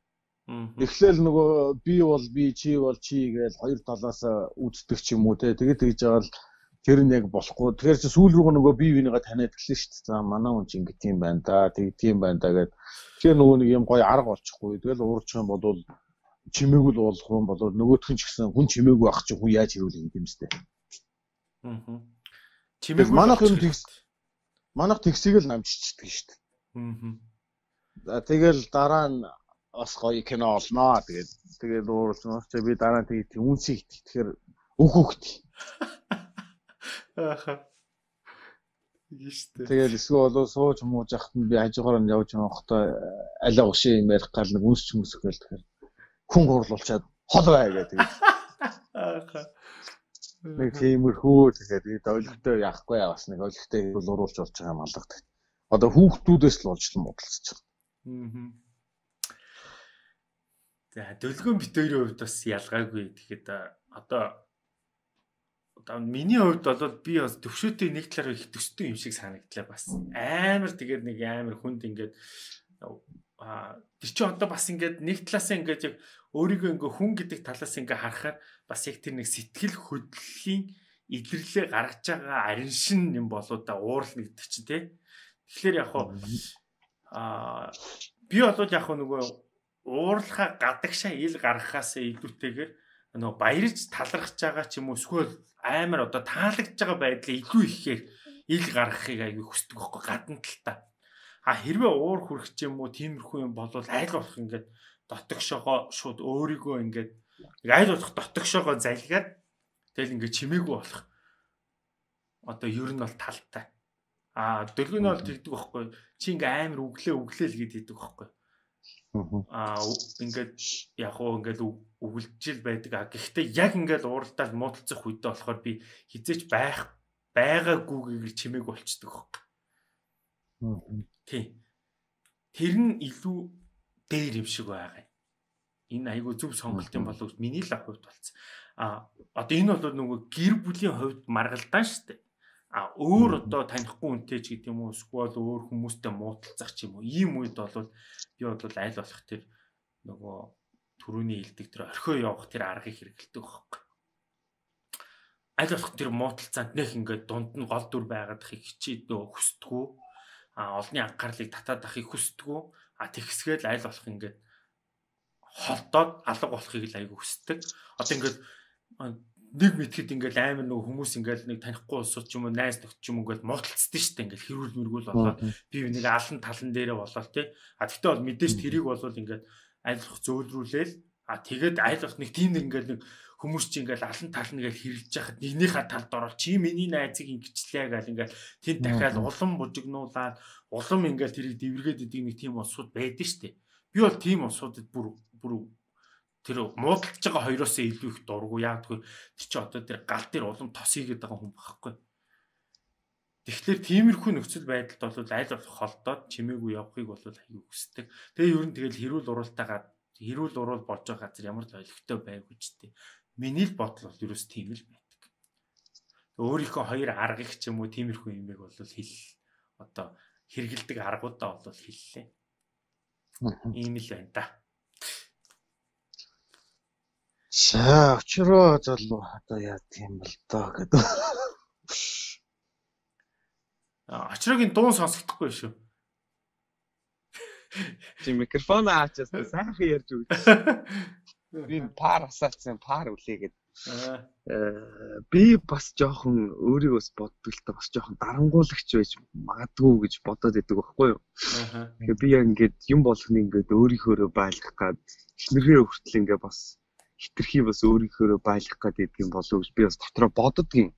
Эхлээл нөгөө би бол би чи бол чи гээл хоёр талаас үздэг ч юм уу те. Тэгээд тэгж байгаа л тэр нь яг болохгүй. Тэгэхээр чи сүүл рүү нөгөө бие бинийгаа таниад эхэлнэ шүү дээ. За манай хүн чинь ингэ тийм байна да. Тийм байна да гэд. Тэгэхээр нөгөө нэг юм гоё арга болчихгүй. Тэгэл уурчих юм бол чимээгүй л уулах юм бол нөгөөх нь ч гэсэн хүн чимээгүй ах чи хүн яаж хэрүүл юм сте. Чимээгүй манайх тэгсийг л намжчихдаг шүү дээ. За тэгэл дараа нь бас гоё кино олноо. Тэгээд уурсан ч би дараа нь тэгээд үнсийг тэгэхээр өөхөхт. Тэгээд эсвэл болоо сууж мууж ахт нь би хажуугаар нь явж байхдаа алаа уши юм ярих гал нэг үнсч хүмүүс гээл тэгэхээр хүн гурлуулчаад хол бай гэдэг. Нэг тиймэрхүү тэгээд ойлгохтой яахгүй бас нэг ойлгохтой бол уруулж болж байгаа юм алгадаг. Одоо хүүхдүүдээс л болж муудалцчих.
За дөлгөөн бит хоёрын хувьд бас ялгаагүй. Тэгэхэд одоо миний хувьд бол би бас төвшөөтэй нэг талаар их төстэй юм шиг санагдлаа бас. Амар тэгээд нэг амар хүнд ингээд тэр чи одоо бас ингээд нэг талаас ингээд яг өөрийгөө ингээ хүн гэдэг талаас ингээ харахаар бас яг тэр нэг сэтгэл хөдлөлийн илэрлээ гаргаж байгаа арин шин юм болоо да уурал гэдэг чинь тий. Тэгэхээр яг би бол яг нөгөө уурлахаа гадагшаа ил гаргахаас илүүтэйгээр нөгөө баярж талархаж байгаа ч юм уу эсвэл амар одоо таалагдж байгаа байдлаа илүү ихээр ил гаргахыг аягүй хүсдэг байхгүй гадна талтаа. Хэрвээ уур хүрэх ч юм уу тиймэрхүү юм болвол айл болох ингээд дотогшоогоо шууд өөрийгөө ингээд айл болох дотогшоогоо залгаад тэгэл ингээд чимээгүй болох. одоо ер нь бол талтай. Дөлгөө нь бол тэгдэг байхгүй. Чи ингээ амар өглөө л гэдэг байхгүй. Ингээд яг уу ингээд өгөлжил байдаг. Гэхдээ яг ингээд ууралдаал муудалцах үедээ болохоор би хизээч байгаагүйгээр чимээг болчдөг байхгүй. Тийм. Тэр нь илүү дээр юм шиг байгаа юм. Энэ айгүй зөв сонголт юм болов уу миний л хувьд болсон. Одоо энэ бол нөгөө гэр бүлийн хувьд маргалдаан шүү дээ. Өөр одоо танихгүй үнтэй ч гэдэг юм уу эсвэл өөр хүмүүстэй муудалцах ч юм уу ийм үед бол би бол аль болох тэр нөгөө түрүүний хэлдэг тэр орхио явах тэр аргыг хэрэгэлдэг байхгүй. Аль болох тэр муудалцаанд нэх ингээд дунд нь гол дүр байгаад ахыг хичээдөө хүсдэггүй. Олонний анхаарлыг татаад ахыг хүсдэггүй. Тэгсгээл аль болох ингээд холдоод алга болохыг л айгүй хүсдэг. Одоо ингээд нэг мэтгэд ингээл амар нөгөө хүмүүс ингээл нэг танихгүй улсууд ч юм уу найз нөхд ч юм уу ингээл муудалцдээ штэ ингээл хэрүүл мэргүүл болоод би нэг алан талан дээрээ болоод тий. Тэгтээ бол мэдээж тэрийг бол ингээд айлах зөөлрүүлээл тэгээд айлах нэг тийм ингээл нэг хүмүүс чи ингээл алан талан ингээл хэрэлж яхад нэгнийхээ талд орол чи миний найзыг ингэчлээ гэл ингээл тэнд дахиад улам бужигнуулаад улам ингээл тэрийг дэвэргээд идэг нэг тийм улсууд байдаг штэ. Би бол тийм улсуудад бүр тэр муудалж байгаа хоёроос илүү их дургу яагдгүй тэр чи одоо тэр гал дээр улам тос хийгээд байгаа хүн байхгүй. Тэгэхээр тиймэрхүү нөхцөл байдалд бол аль болох холдоод чимээгүй явахыг бол аягүй хүсдэг. Тэгээ ер нь тэгэл хэрүүл уруул болж байгаа газар ямар л ойлгохтой байв гэж тээ. Миний л бодол бол ерөөс тийм л байдаг. Өөрийнхөө хоёр аргыг ч юм уу тиймэрхүү юмэг бол одоо хэрэгэлдэг аргуудаа бол хэллээ. Ийм л байна да.
За очроо залуу одоо яа тийм бол доо гэдэг.
Очрогийн дуун сонсогдохгүй шүү.
Чи микрофон аачаас сайхан ярьж өгч. Би пар асаацсан пар үлээгээд. Би бас жоохон өөрийгөөс боддог л та бас жоохон дарангуулагч байж магадгүй гэж бодоод байдаг байхгүй юу. Тэгэхээр би яг ингээд юм болгоно ингээд өөрийнхөөрөө байлгах гад эхнэрээ хүртэл ингээд бас хитрхи бас өөрийнхөөрөө байлгах гэдэг юм болов гэж би бас дотроо боддгийн.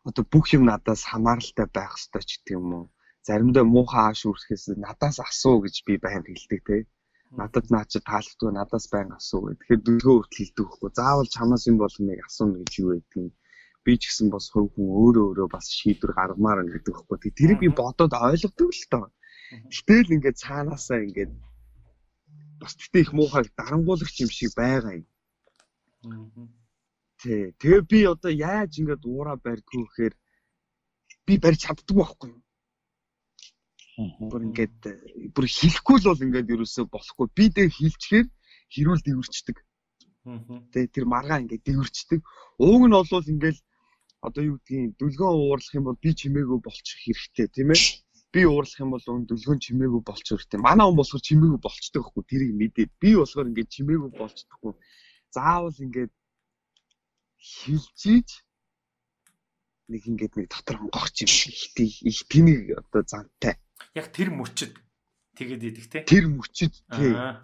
Одоо бүх юм надаас хамааралтай байх ёстой ч гэдэг юм уу. Заримдаа муухай ааш үрсэхээс надаас асуу гэж би байнга хэлдэг те. Надад наа чи таалагдгүй надаас байнга асуу гэх. Тэгэхээр дөлгөө хүртэл хэлдэг байхгүй. Заавал чамаас юм болгоныг асууна гэж юу байдгийг. Би ч гэсэн бас хувь хүн өөрөө бас шийдвэр гаргамаар гэдэг байхгүй. Тэрийг би бодоод ойлгодог л тоо. Гэтэл ингээд цаанаасаа ингээд бас тэгтээ их муухайг дарангуулагч юм шиг байгаа юм. Тэгээ би одоо яаж ингээд уураа барьдгүй гэхээр би барьж чаддгүй байхгүй юу. Бүр ингээд бүр хэлэхгүй л бол ингээд ерөөсөө болохгүй. Би дэ хэлчихээр хэрүүл дэвэрчдэг. Тэгээ тэр маргаа ингээд дэвэрчдэг. Ууг нь бол ингээд одоо юу гэдгийг дүлгөө уурлах юм бол би чимээгүй болчих хэрэгтэй тийм ээ. Би уурлах юм бол дүлгөө чимээгүй болчих хэрэгтэй. Манай хүн болохоор чимээгүй болчдөг байхгүй. Тэрийг мэдээд би болохоор ингээд чимээгүй болчдоггүй. Заавал ингээд хилжиж нэг ингээд нэг дотор онгохч юм их тэнийг одоо зантай.
Яг тэр мөчөд тэгээд идэх те.
Тэр мөчөд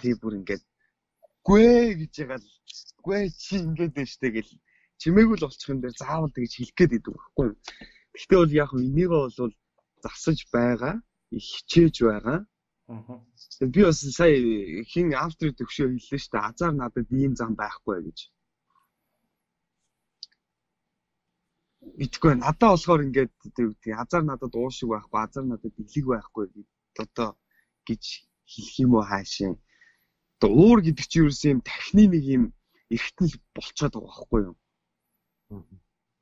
тий бүр ингээд гүй гэж яагаад гүй чи ингээд байна штэ гэл чимээгүй л болчих юм дээр заавал тэгж хэлэх гээд идэв байхгүй. Гэхдээ бол яг энийг бол засаж байгаа, хичээж байгаа. Би бас сая хин автор төгшөө хэллээ штэ азар надад ийм зам байхгүй гэж. Итгэв надад болохоор ингээд азар надад уушиг байхгүй, азар надад дэлэг байхгүй гэдэг одоо гэж хэлэх юм уу хаашаа. Одоо уур гэдэг чинь ерөөс юм тархины нэг юм эргэтэн болцоод байгаа байхгүй юу?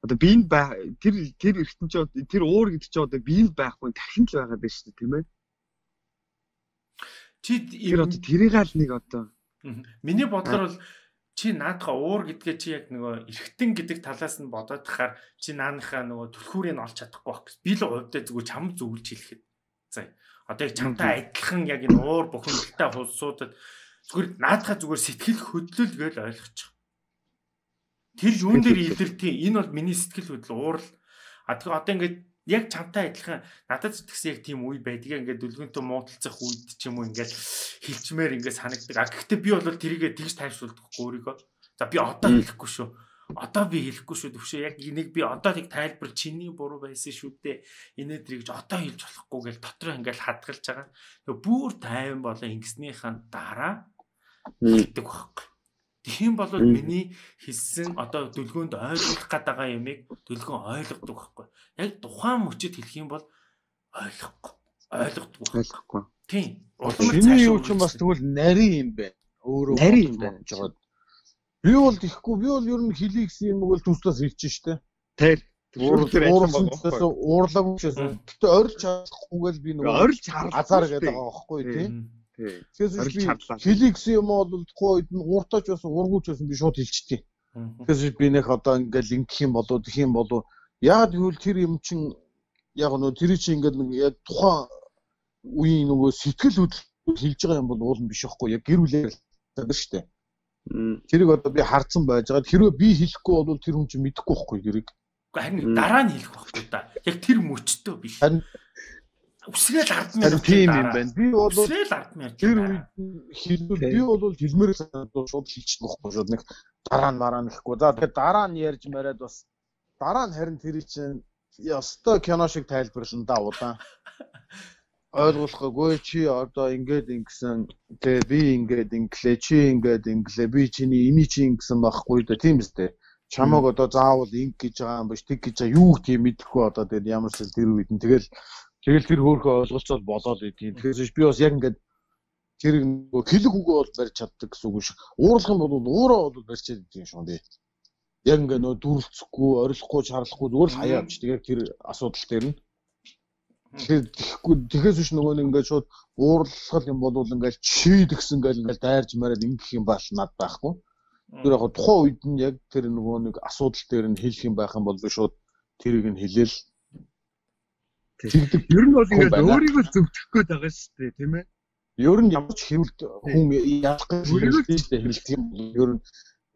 Одоо биенд тэр эргэтэн ч тэр уур гэдэг чинь одоо биенд байхгүй тархинд л байгаа даа шүү дээ тийм ээ.
Чи
тэр одоо тэрийг аль нэг одоо
миний бодлоор бол чи наадхаа уур гэдгээ чи яг нөгөө эргэтэн гэдэг талаас нь бодоод тахаар чи нааныхаа нөгөө түлхүүрийг нь олж чадахгүй байх гэсэн. Би л хувьдаа зүгээр чам зөвлөж хэлэхэд. За одоо яг чамтай адилхан яг энэ уур бухимдалтай хулсуудад зүгээр наадхаа зүгээр сэтгэл хөдлөл гэж ойлгочих. Тэр юун дээр илэрдэг энэ бол миний сэтгэл хөдлөл уурал. Тэгээ одоо ингээд яг чамтай адилхан надад зүтгэсэн яг тийм үе байдаг. Ингээд дүлгөнтөө муудалцах үед ч юм уу ингээд хилчмээр ингээд санагдаг. Гэхдээ би бол тэрийгээ тэгж тайвшруулдаггүй өөрийгөө. За би одоо хэлэхгүй шүү. Одоо би хэлэхгүй шүү төвшөө яг энийг би одоо тийг тайлбар чиний буруу байсан шүү дээ. Инээдрийг одоо хэлж болохгүй гэж дотроо ингээл хадгалж байгаа. Тэгээ бүр тайван болоо ингэснийхэн дараа хэлдэг байхгүй. Тийм бол миний хэлсэн одоо дүлгөөнд ойлгох гээд байгаа юмыг дүлгөөн ойлгодог байхгүй. Яг тухайн мөчөд хэлэх юм бол ойлгохгүй. Тийм.
Чиний юу ч бас тэгвэл нарийн юм байна. Өөрөө нарийн юм байна гэж байгаа. Би бол ихгүй би бол ер нь хэлий гэсэн юм бол төслөөс хэлж штэ. Тэр уурлаг учраас гэтээ орилж чадахгүйгээл би нөгөө орилж азар гэдэг байгаа байхгүй тийм. Тэгэхээр би хэлий гэсэн юм бол тухайн үед нь ууртаач бас ургууч байсан би шууд хэлчихтий. Тэгэхээр би нэх одоо ингээл ингэх юм болоо тэх юм болоо яагаад гэвэл тэр юм чин яг нөгөө тэр чинь ингээд яг тухайн үеийн нөгөө сэтгэл хөдлөл хэлж байгаа юм бол уул нь биш байхгүй яг гэр бүлээр байдаг штэ. Тэрийг одоо би харцсан байж байгаа. Хэрвээ би хэлэхгүй бол тэр хүн чинь мэдэхгүй байхгүй тэрийг.
Харин дараа нь хэлэх байхгүй да. Яг тэр мөчтөө биш. Үсрээл ардмын
тийм юм байна. Би бол
үсрээл ардмын
тэр үед хэлбэл би бол хэлмээр шууд хэлчихсэн байхгүй шууд нэг дараа нь мараа нэхгүй. За тэгээд дараа нь ярьж мараад бас дараа нь харин тэр чинь ёстой кино шиг тайлбарлан да удаан. Ойлгуулахгүй чи одоо ингээд ингэсэн тэгээ би ингээд инглээ чи ингээд инглээ би чиний эний чи ингэсэн байхгүй да тийм үстэй чамаг одоо заавал инг гэж байгаа юм биш тэг гэж юу гэх юм мэдэхгүй одоо тэгээд ямар ч тэр үед нь тэгэл тэр хөөхөө ойлголцоод болоод идэв. Тэгэхээр би бас яг ингээд тэр хэлэг үгөө бол барьж чаддаг гэсэн үг шиг уурлах юм бол уураа бол барьж чаддаг юм шүү дээ. Яг ингээд нөө дүрлцэхгүй орилохгүй чарлахгүй зүгээр л хаяа авчдаг яг тэр асуудал дээр нь. Тэгэхээр биш нөгөө нэг ингээд шууд уурлах юм бол ингээд чийд гэсэн ингээд дайрж мараад ингэх юм бааш над байхгүй. Тэр яг тухайн үед нь яг тэр нөгөө нэг асуудал дээр нь хэлэх юм байх юм бол би шууд тэрийг нь хэлээл. Тэгдэг. Ер нь бол ингээд өөрийгөө зөвтгөх гээд байгаа шүү дээ, тийм ээ. Ер нь ямар ч хэвлэлт хүн яах гэж хэлдэг юм бол ер нь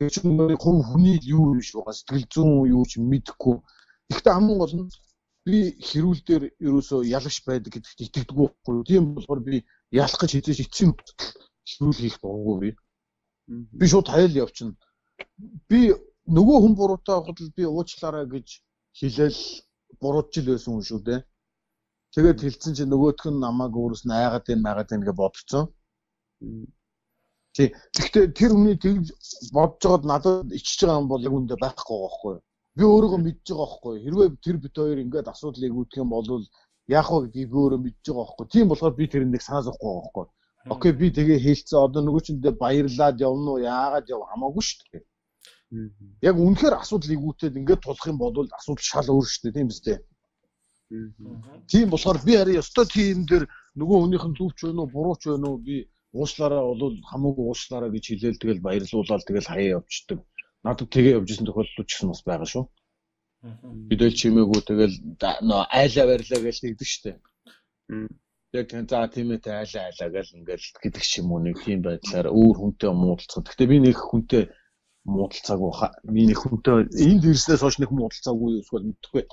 тэр чинь нөгөө хүний юу юм шиг байгаа сэтгэл зүйн юу ч мэдэхгүй. Гэхдээ хамгийн гол нь би хэрүүл дээр ерөөсөө ялагч байдаг гэдэгт итгэдэггүй байхгүй. Тийм болохоор би ялах гэж хизээж эцсийн хэрүүл хийх дурггүй би. Би шууд хаял явчихна. Би нөгөө хүн буруутай байхад би уучлаарай гэж хэлээл буруутжил байсан хүн шүү дээ. Тэгээд хэлсэн чинь нөгөөх нь намайг өөрөөс нь айгаад байна гэж бодцсон. Гэхдээ тэр хүний тэгж бодож байгаад надад ичж байгаа юм бол яг үндэ байхгүй байхгүй. Би өөрийгөө мэдж байгаа байхгүй. Хэрвээ тэр бит хоёр ингээд асуудлыг үүдэх юм бол яах вэ гэдгийг би өөрөө мэдж байгаа байхгүй. Тийм болохоор би тэр нэг санаа зовхгүй байгаа байхгүй. Окей би тэгээ хэлцээ одоо нөгөө чиндээ баярлаад явна уу яагаад яв хамаагүй шүү дээ. Яг үнэхээр асуудлыг үүдээд ингээд тулах юм бол асуудал шал өөр шүү дээ тийм биз дээ. Тийм болохоор би харин ёстой тийм дээр нөгөө хүнийх нь зүвч байна уу бурууч байна уу би уушлаараа бол хамаагүй уушлаараа гэж хэлээл тэгэл баярлуулаад тэгэл хаяа явчихдаг. Надад тэгээ явж исэн тохиолдол ч гэсэн бас байгаа шүү. Бидэл чимээгүй тэгэл нөө айлаа барилаа гэж тэгдэг штэ. Яг за тийм ээ айлаа гэж ингээл гэдэг ч юм уу нэг тийм байдлаар өөр хүнтэй муудалцах. Гэхдээ би нэг хүнтэй муудалцаагүй би нэг хүнтэй энд ирснээс хойш нэг муудалцаагүй эсвэл мэдхгүй.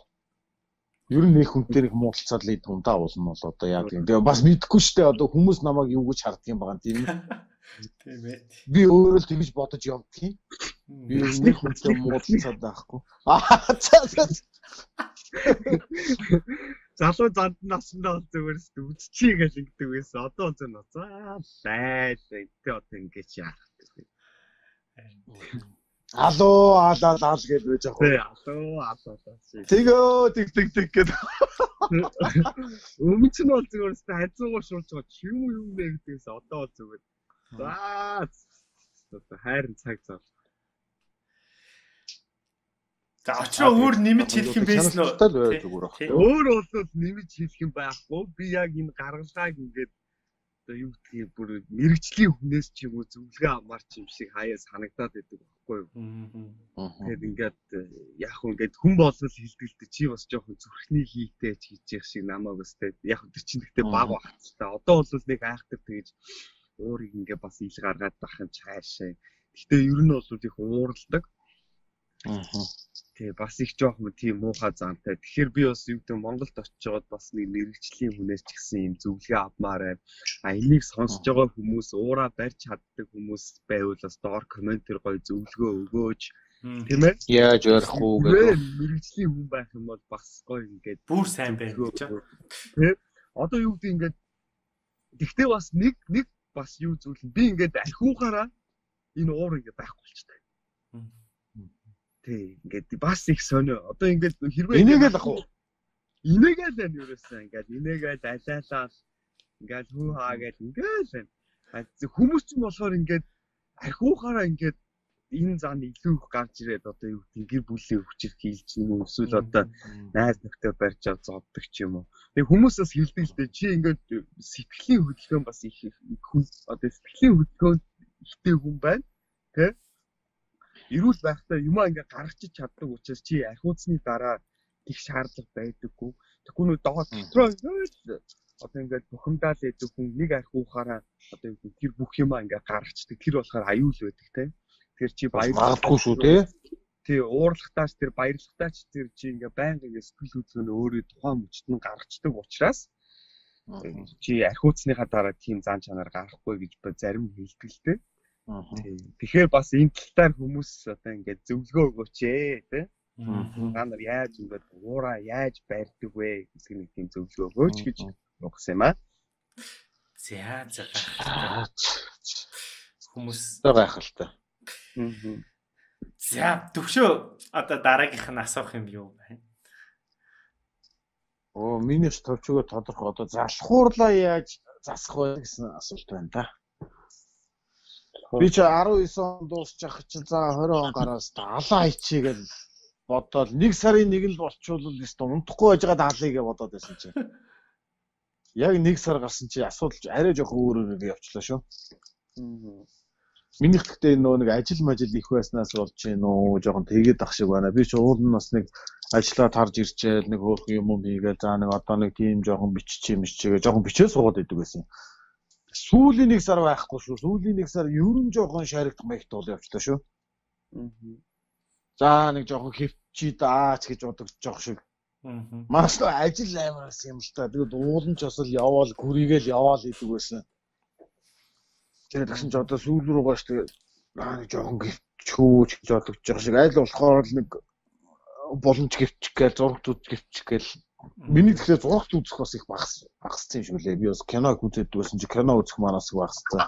Ер нь нэг хүнтэй нэг муудалцаад л идэв даа болно бол одоо яа гэдэг. Тэгээ бас мэдхгүй штэ одоо хүмүүс намайг юу гэж харддаг юм байгаа тийм ээ. Тийм ээ. Би өөрөө л тэгж бодож явдгийг. Би нэг хүнтэй муудалцаад байхгүй. Залуу занд наснаа бол зүгээрс үзчихье гэж ингэдэг байсан. Одоо зэн за байлаа. Тэ одоо ингэж яах вэ? Алуу алаа гэж байж байгаа. Тий, алуу. Тэгөө тэг гэдэг. Өмнө нь бол зүгээрс хайцуугаар шуулж байгаа ч юм бэ гэдэгээс одоо бол зүгээр. За хайрын цаг зав. За очроо өөр нэмж хэлэх юм байсан уу? Өөр бол нэмж хэлэх юм байхгүй. Би яг энэ гаргалгааг ингээд одоо юу гэдгийг бүр мэрэгжлийн хүнээс ч юм уу зөвлөгөө амарч юм шиг хаяа санагдаад байдаг байхгүй юу? Тэгээд ингээд яг хөө ингээд хүн болол хэлдэгтэй чи бас жоохон зүрхний хийтэй ч хийж явах шиг намайг бас яг тэр чинь гэхдээ баг багцтай. Одоо бол нэг айхтар тэгэж уурыг ингээд бас ил гаргаад байх юм цаашаа. Гэхдээ ер нь бол их уурладаг. Тэгээ бас их жоохон тийм муухай заантай. Тэгэхээр би бас юу гэдэг Монголд очиж бас нэг мэрэгжлийн хүнээс ч гэсэн юм зөвлөгөө авмаар байна. Энийг сонсож байгаа хүмүүс уураа барьж чаддаг хүмүүс байвал бас доор комментээр гоё зөвлөгөө өгөөч.
Тийм ээ.
Яаж ярих уу гэдэг.
Мэргэжлийн хүн байх юм бол бас гоё ингээд
бүр сайн байна гэж.
Тийм. Одоо юу гэдэг ингээд тэгтээ бас нэг бас юу зүйл нь би ингээд архиухаараа энэ уур ингээд байхгүй болчихдаг. Тий, ингээд бас их сонио. Одоо ингээд хэрвээ
инээгээл ах уу?
Инээгээл байна ерөөсөө ингээд инээгээл алайлал ингээд хүү хаагээл ингээл байна. Хүмүүс ч болохоор ингээд архиухаараа ингээд энэ зан илүү их гарч ирээд одоо юу гэдэг гэр бүлийн хүчээр хийлч юм уу эсвэл одоо найз нөхдөд барьж авч зоддог ч юм уу. Тэгээ хүмүүс бас хэлдэг л дээ чи ингээд сэтгэлийн хөдөлгөөн бас их хүн одоо сэтгэлийн хөдөлгөөн ихтэй хүн байна. Тэ? Ирүүл байхдаа юмаа ингээд гаргачих чаддаг учраас чи архиуцсны дараа их шаардлага байдаггүй. Тэгэхгүй нөө доод дотроо одоо ингээд бухимдаад байдаг хүн нэг архиухаараа одоо тэр бүх юмаа ингээд гаргацдаг. Тэр болохоор аюул байдаг те. Тэр чи
баярлахгүй шүү те.
Тий, уурлахтаач тэр баярлахтаач тэр чи ингээ байнга ингээ сэтгэл хөдлөл нь өөрөө тухайн мөчт нь гаргацдаг учраас чи архиуцсныхаа дараа тийм зан чанар гарахгүй гэж зарим хэлдэг л те. Тэгэхээр бас энэ талтаар хүмүүс одоо ингээ зөвлөгөө өгөөч те. Та нар яаж ингээд уураа яаж байрдаг вэ гэсэн нэг тийм зөвлөгөө өгөөч гэж нугсан юм аа.
За хүмүүс
гайхалтай.
За төвшөө одоо дараагийнх нь асуух юм юу байна?
Миний төвчгөө тодорхой одоо залхуурлаа яаж засах вэ гэсэн асуулт байна да. Би ч 19 он дуусчих чинь за 20 он гараас алаа хийчихье гэж бодоод 1 сарын 1 л болчихвол өстө унтахгүй байж байгаа даалыг гэж бодоод байсан чинь. Яг 1 сар гарсан чи асуудал арай жоох өөрөөр явчлаа шүү. Минийх гэхдээ нэг ажил их байснаас болж байна уу жоохон тэгээд ах шиг байна. Би ч уулын нас нэг ажиллаад харж ирчээл нэг хөөх юм хийгээл за нэг одоо нэг тийм жоохон биччихээ жоохон бичээ суугаад идэг байсан. Сүүлийн 1 сар байхгүй шүү. Сүүлийн 1 сар ерөн жоохон шаригдах маягт бол явчлаа шүү. За нэг жоохон хөвчий даач гэж бодож жоох шиг. Маш л ажил аймаас юм л та. Тэгээд уулын ч бас л яваал гүрийгээл яваал идэг байсан. Тэгээд тэгсэн чи одоо сүүл рүүгээ ш тэгээд нэг жоохон гівчүүч гэж бодож байгаа шиг аль болохоор нэг боломж гівчих гээл зургтууд гівчих гээл миний тэгэхээр зургт үзэх бас их багассан юм шиг лээ. Би бас киног үзээд байсан чи кино үзэх манаас их багассан.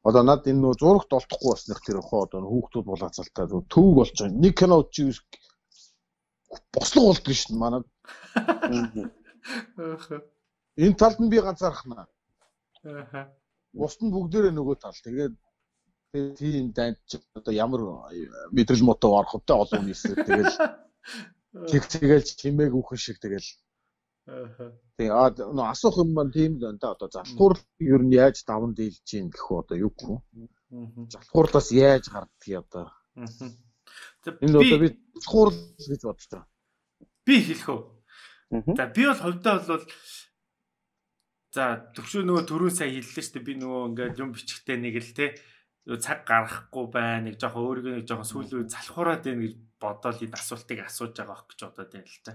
Одоо над энэ нөө зургт олдохгүй басных тэр хоо одоо хүүхдүүд булаацалтай төв болж байгаа. Нэг кино үзчих бослого болдгоо шин манад. Энэ талд нь би ганцаархнаа. Бусд нь бүгдээрээ нөгөө тал. Тэгээд тийм дайнд одоо ямар мэдрэл мотов орох вэ олон нийсээ тэгэл чимээг үхэн шиг тэгэл. Тэгээд нөө асуух юм маань тийм л байна да. Одоо залхуур ер нь яаж даван дийлж гин гэх одоо юу гэх вэ? Залхуурлаас яаж гардгийг одоо. Энэ одоо би залхуурл гэж бодож байгаа.
Би хэлэх үү. За би бол хувьдаа бол за төвшөө нөгөө түрүүн сая хэллээ шүү дээ би нөгөө ингээд юм бичихтэй нэг л те цаг гаргахгүй байна нэг жоохон өөрийгөө нэг жоохон сүүлийн залхуураад байна гэж бодоод энэ асуултыг асууж байгаа ох гэж бодоод байна л та.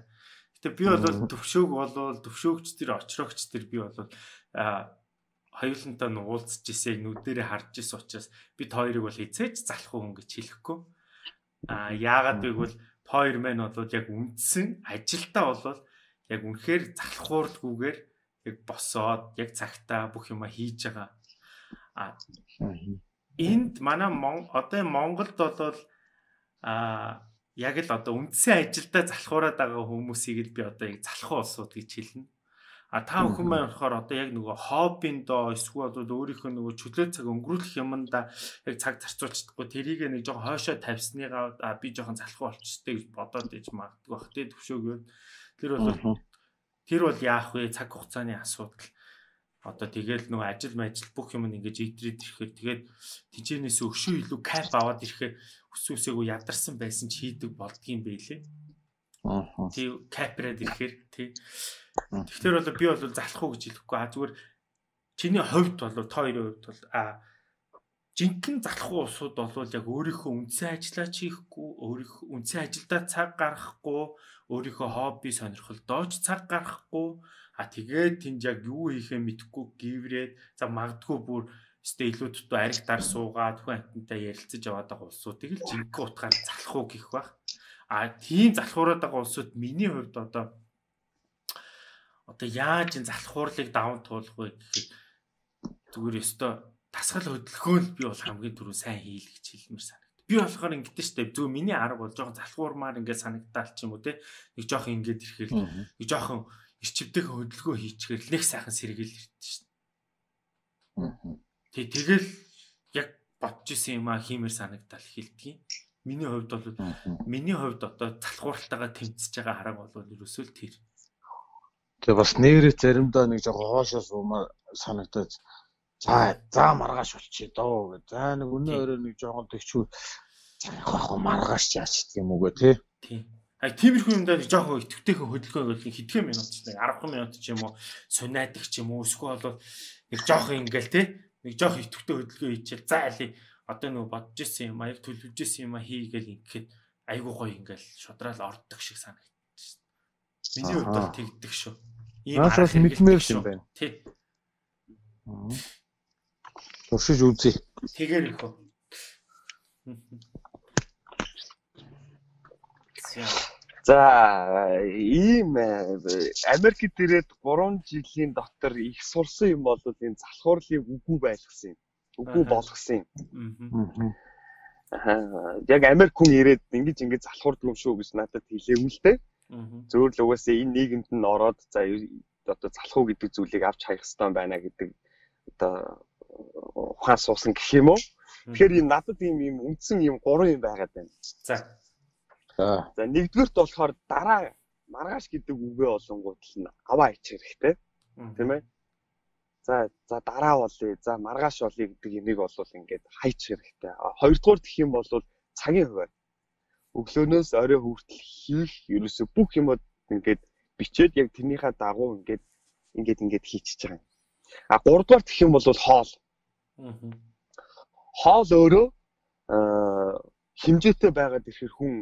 Гэтэ би бол төвшөөг болвол төвшөөгч тэр очрогч тэр би бол хоёулантай уулзж ирсэн нүдэрээ харж ирсэн учраас бид хоёрыг бол эцээж залхуу хүн гэж хэлэхгүй. Яагаад гэвэл хоёр маань бол яг үндсэн ажилдаа бол яг үнэхээр залхуурдгүйгээр яг босоод яг цагтаа бүх юма хийж байгаа. Энд манай одоо Монголд бол яг л одоо үндсэн ажилдаа залхуураад байгаа хүмүүсийг л би одоо яг залхуу улсууд гэж хэлнэ. Та бүхэн маань болохоор одоо яг нөгөө хоббиндоо эсвэл өөрийнхөө нөгөө чөлөө цаг өнгөрүүлэх юмдаа яг цаг зарцуулчихдаггүй тэрийг нэг жоохон хойшоо тавьсныгаа би жоохон залхуу болчихтой гэж бодоод иж магадгүй бах тэ төвшөөгөө тэр бол яах вэ цаг хугацааны асуудал одоо тэгэл нөгөө ажил бүх юм ингэж идрээд ирэхэд тэгээд тэнцэнээс өгшөө илүү кайф аваад ирэхэд өсөөсөөгөө ядарсан байсан ч хийдэг болдгийм байлээ. Тий кайфраад ирэхээр тий. Тэгэхээр бол би бол залхуу гэж хэлэхгүй зүгээр чиний хувьд бол та хоёрын хувьд бол жинхэнэ залхуу усуд бол яг өөрийнхөө үндсэн ажиллаа хийхгүй өөрийнхөө үндсэн ажилдаа цаг гаргахгүй өөрийнхөө хобби сонирхолдоо ч цаг гаргахгүй тэгээд тэнд яг юу хийхээ мэдэхгүй гіврээд за магадгүй бүр Эсвэл илүү дутуу аригтаар суугаад хүн амтантай ярилцаж яваад байгаа улсуудыг л жинхэнэ утгаар залах уу гэх бах. Тийм залхуураад байгаа улсууд миний хувьд одоо яаж энэ залхуурлыг даван туулах вэ гэхэд зүгээр ёстой тасгал хөдөлгөөн би бол хамгийн түрүү сайн хийл гэж хэлмээр санагд. Би болохоор ингэдэж штэ зүгээр миний арга бол жоохон залхуурмаар ингээд санагдаал ч юм уу те. Нэг жоохон ингээд ирэхээр нэг жоохон ирчивдэх хөдөлгөөн хийчихээр л нэг сайхан сэргээл ирдэ штэ. Тэгэл яг бодож исэн юм хиймээр санагдаал хэлдэг. Миний хувьд одоо залхууралтайгаа тэмцэж байгаа хараг бол ерөөсөө л тэр.
Тэгээ бас нэрээ заримдаа нэг жоохон хоошоо суумаар санагдаж за маргааш болчихё доо гэ. За нэг өнөө өрөө нэг жоохон тэгчүү яг маргааш яач гэх юм уу гэ тий.
Тиймэрхүү юмдаа нэг жоохон итгэвтэйхэн хөдөлгөөн бол хэдхэн минут ч нэг 10 минут ч юм уу сунаадаг ч юм уу эсвэл бол нэг жоохон ингээл тий. Нэг жоохон итгэвтэй хөдөлгөөн хийчихэл за алий одоо нөгөө бодож ирсэн юм яг төлөвлөж ирсэн юм хийгээл ингээд айгуу гоё ингээл шудрал ордог шиг санагдаж шин. Миний хувьд бол тэгдэг шүү.
Ийм харах мэдмээр юм байна.
Тий.
Туршиж үзье.
Тэгээр их үү.
За ийм Америкт ирээд 3 жилийн дотор их сурсан юм бол энэ залхуурлыг үгүй байлгасан юм. Үгүй болгосон юм. Яг Америк хүн ирээд ингэж залхуурдаг юм шүү гэж надад хэлээгүй л дээ. Зөвөр л угаасаа энэ нийгэмд нь ороод за одоо залхуу гэдэг зүйлийг авч хаях хэрэгтэй байна гэдэг одоо ухаан суусан гэх юм уу. Тэгэхээр энэ надад ийм үндсэн ийм 3 юм байгаад байна. За нэгдүгээрт болохоор дараа маргааш гэдэг үгээ олонгууд л аваа ичих хэрэгтэй. Тийм ээ. За дараа болъё. За маргааш болъё гэдэг юмыг бол ингээд хайчих хэрэгтэй. Хоёрдугаар гэх юм бол цагийн хуваар. Өглөөнөөс орой хүртэл хийх ерөөсө бүх юмуд ингээд бичээд яг тэрнийхээ дагуу ингээд хийчихэж байгаа юм. Гуравдугаар гэх юм бол хоол. Хоол өөрөө хэмжээтэй байгаад ирэхээр хүн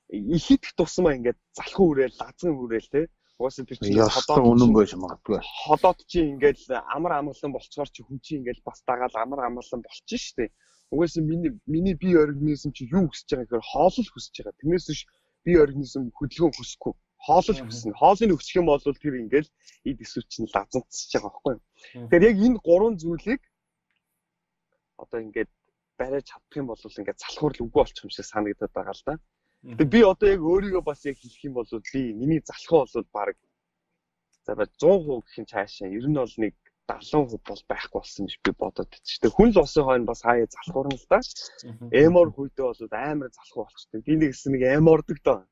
ихэд тусмаа ингээд залхуу хүрээл, лазан хүрээл те. Угаасаа тэр чинь
ходоод үнэн байж магадгүй.
Ходоод чи ингээд амар амгалан болцохоор чи хүн чи ингээд бас дагаал амар амгалан болчих штеп. Угаасаа миний бие организм чи юу хүсэж байгаа гэхээр хоол л хүсэж байгаа. Тэрнээс биш бие организм хөдөлгөөн хүсэхгүй. Хоол л хүснэ. Хоолыг өсгөх юм бол тэр ингээд эд эсвэр чинь лазанцж байгаа байхгүй юу. Тэгэхээр яг энэ 3 зүйлийг одоо ингээд бариад чадах юм бол ингээд залхуурл үгүй болчих юм шиг санагдаад байгаа л да. Тэгээ би одоо яг өөрийгөө бас яг хэлэх юм бол би миний залхуу бол баг за 100% гэх юм цаашаа ер нь бол нэг 70% бол байхгүй болсон гэж би бодоод байна. Тэгээ хүн л усын хойно бас хаяа залхуурна л да. Эмор хүйдээ бол амар залхуу болчихдог. Би нэг хэсэг нэг эмордог доо.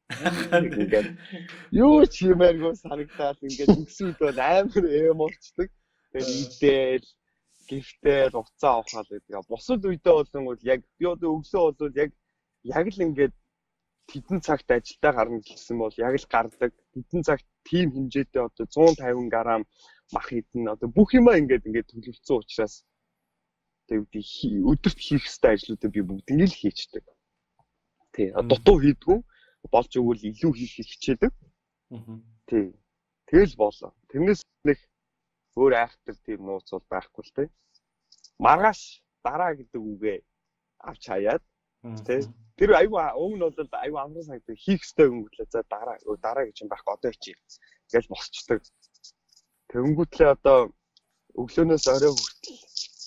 Ингээд юу ч юмээргүй санагдаад ингээд өксүүд бол амар эморчдаг. Тэгээ идэл гифтэл уцаа авахал гэдэг. Бусад үедээ бол яг би одоо өглөө бол яг л ингээд хэдэн цагт ажилдаа гарна гэсэн бол яг л гардаг. Хэдэн цагт тим хэмжээтэй одоо 150 г мах идэн одоо бүх юмаа ингээд төлөвлөсөн учраас тэгээ өдөрт хийх ёстой ажлуудаа би бүгдийг л хийчихдэг. Тий. Дутуу хийдгүү болж өгвөл илүү хийх хичээдэг. Тий. Тэгэл болоо. Тэрнээс нэг өөр айхтар тийм нууц бол байхгүй л тий. Маргааш дараа гэдэг үгээ авч хаяад тий. Тэр аюу өмнө бол аюу амрын санагдав хийх ёстой юм гэхлээ за дараа гэж юм байхгүй одоо хийе гэж босчдаг. Тэнгүүтлээ одоо өглөөнөөс орой хүртэл